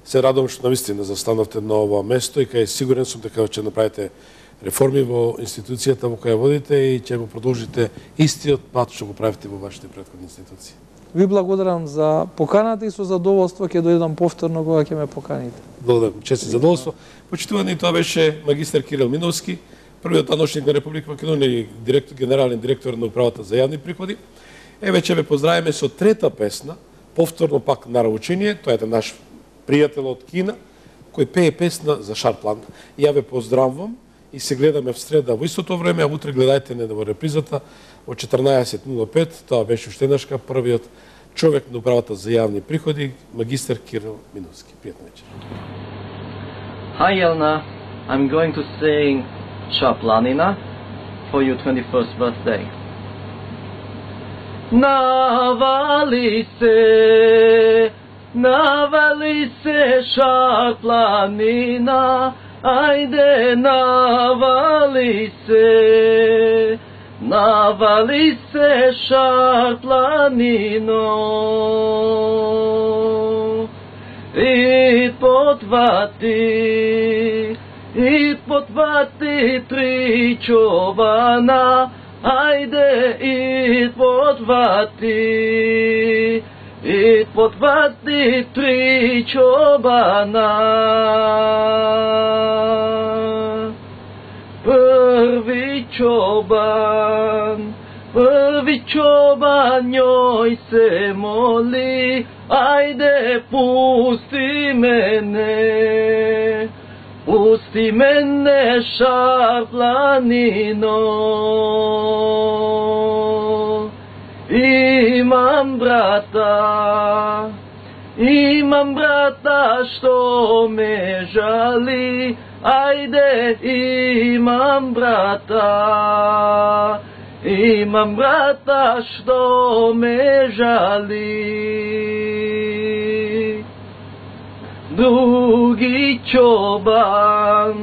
A: Се радувам што навистина застанавте на ова место и кај сигурен сум дека ќе направите реформи во институцијата во која водите и ќе го продолжите истиот пат што го правите во вашите претходни институции.
B: Ви благодарам за поканата и со задоволство ќе дојдам повторно кога ќе ме поканите.
A: Благодарам, чест и задоволство. Почитувани, тоа беше магистар Кирил Миновски, првиот даночник на Република Македонија и директор, генерален директор на Управата за јавни приходи. Еве ќе ве поздравиме со трета песна, повторно пак нараучение, тоа е наш пријател од Кина, кој пее песна за Шарплан. Ја ве поздравувам и се гледаме в среда во истото време, а утре гледајте не во репризата во четрнаесет нула пет. Тоа беше Уштенашка, првиот човек на Управата за јавни приходи, магистар Кирил Миновски. Пријатна вечер.
F: Hi Elna, I'm going to sing Шарпланина for your twenty-first birthday. Навали се, навали се Шарпланина, ајде навали се, навали се Шарпланино. И потвати, и потвати три чована, ајде и потвати, и потвати три чобана. Први чобан, први чобан њој се моли, ајде пусти мене, пусти мене Шарпланино. Имам брата, имам брата што ме жали, ајде имам брата, имам брата што ме жали. Други чобан,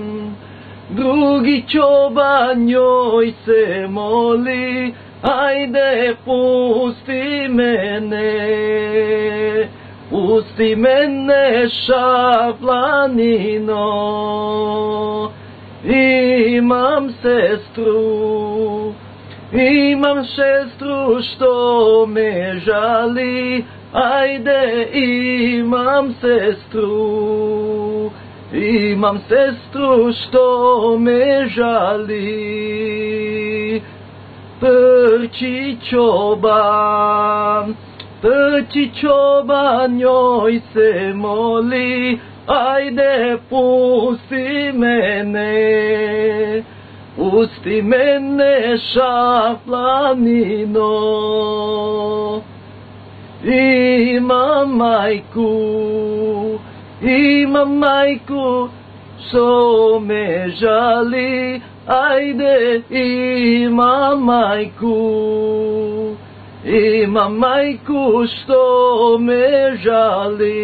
F: други чобан њој се моли, ајде пусти мене, пусти мене Шарпланино. Имам сестру, Имам сестру што ме жали, ајде имам сестру. Имам сестру што ме жали. Трчи чобан, трчи чобан, њој се моли, ајде пусти мене. Пусти мене, шапланино. Имам мајку, имам мајку, што ме жали, ајде имам мајку. Имам мајку што ме жали.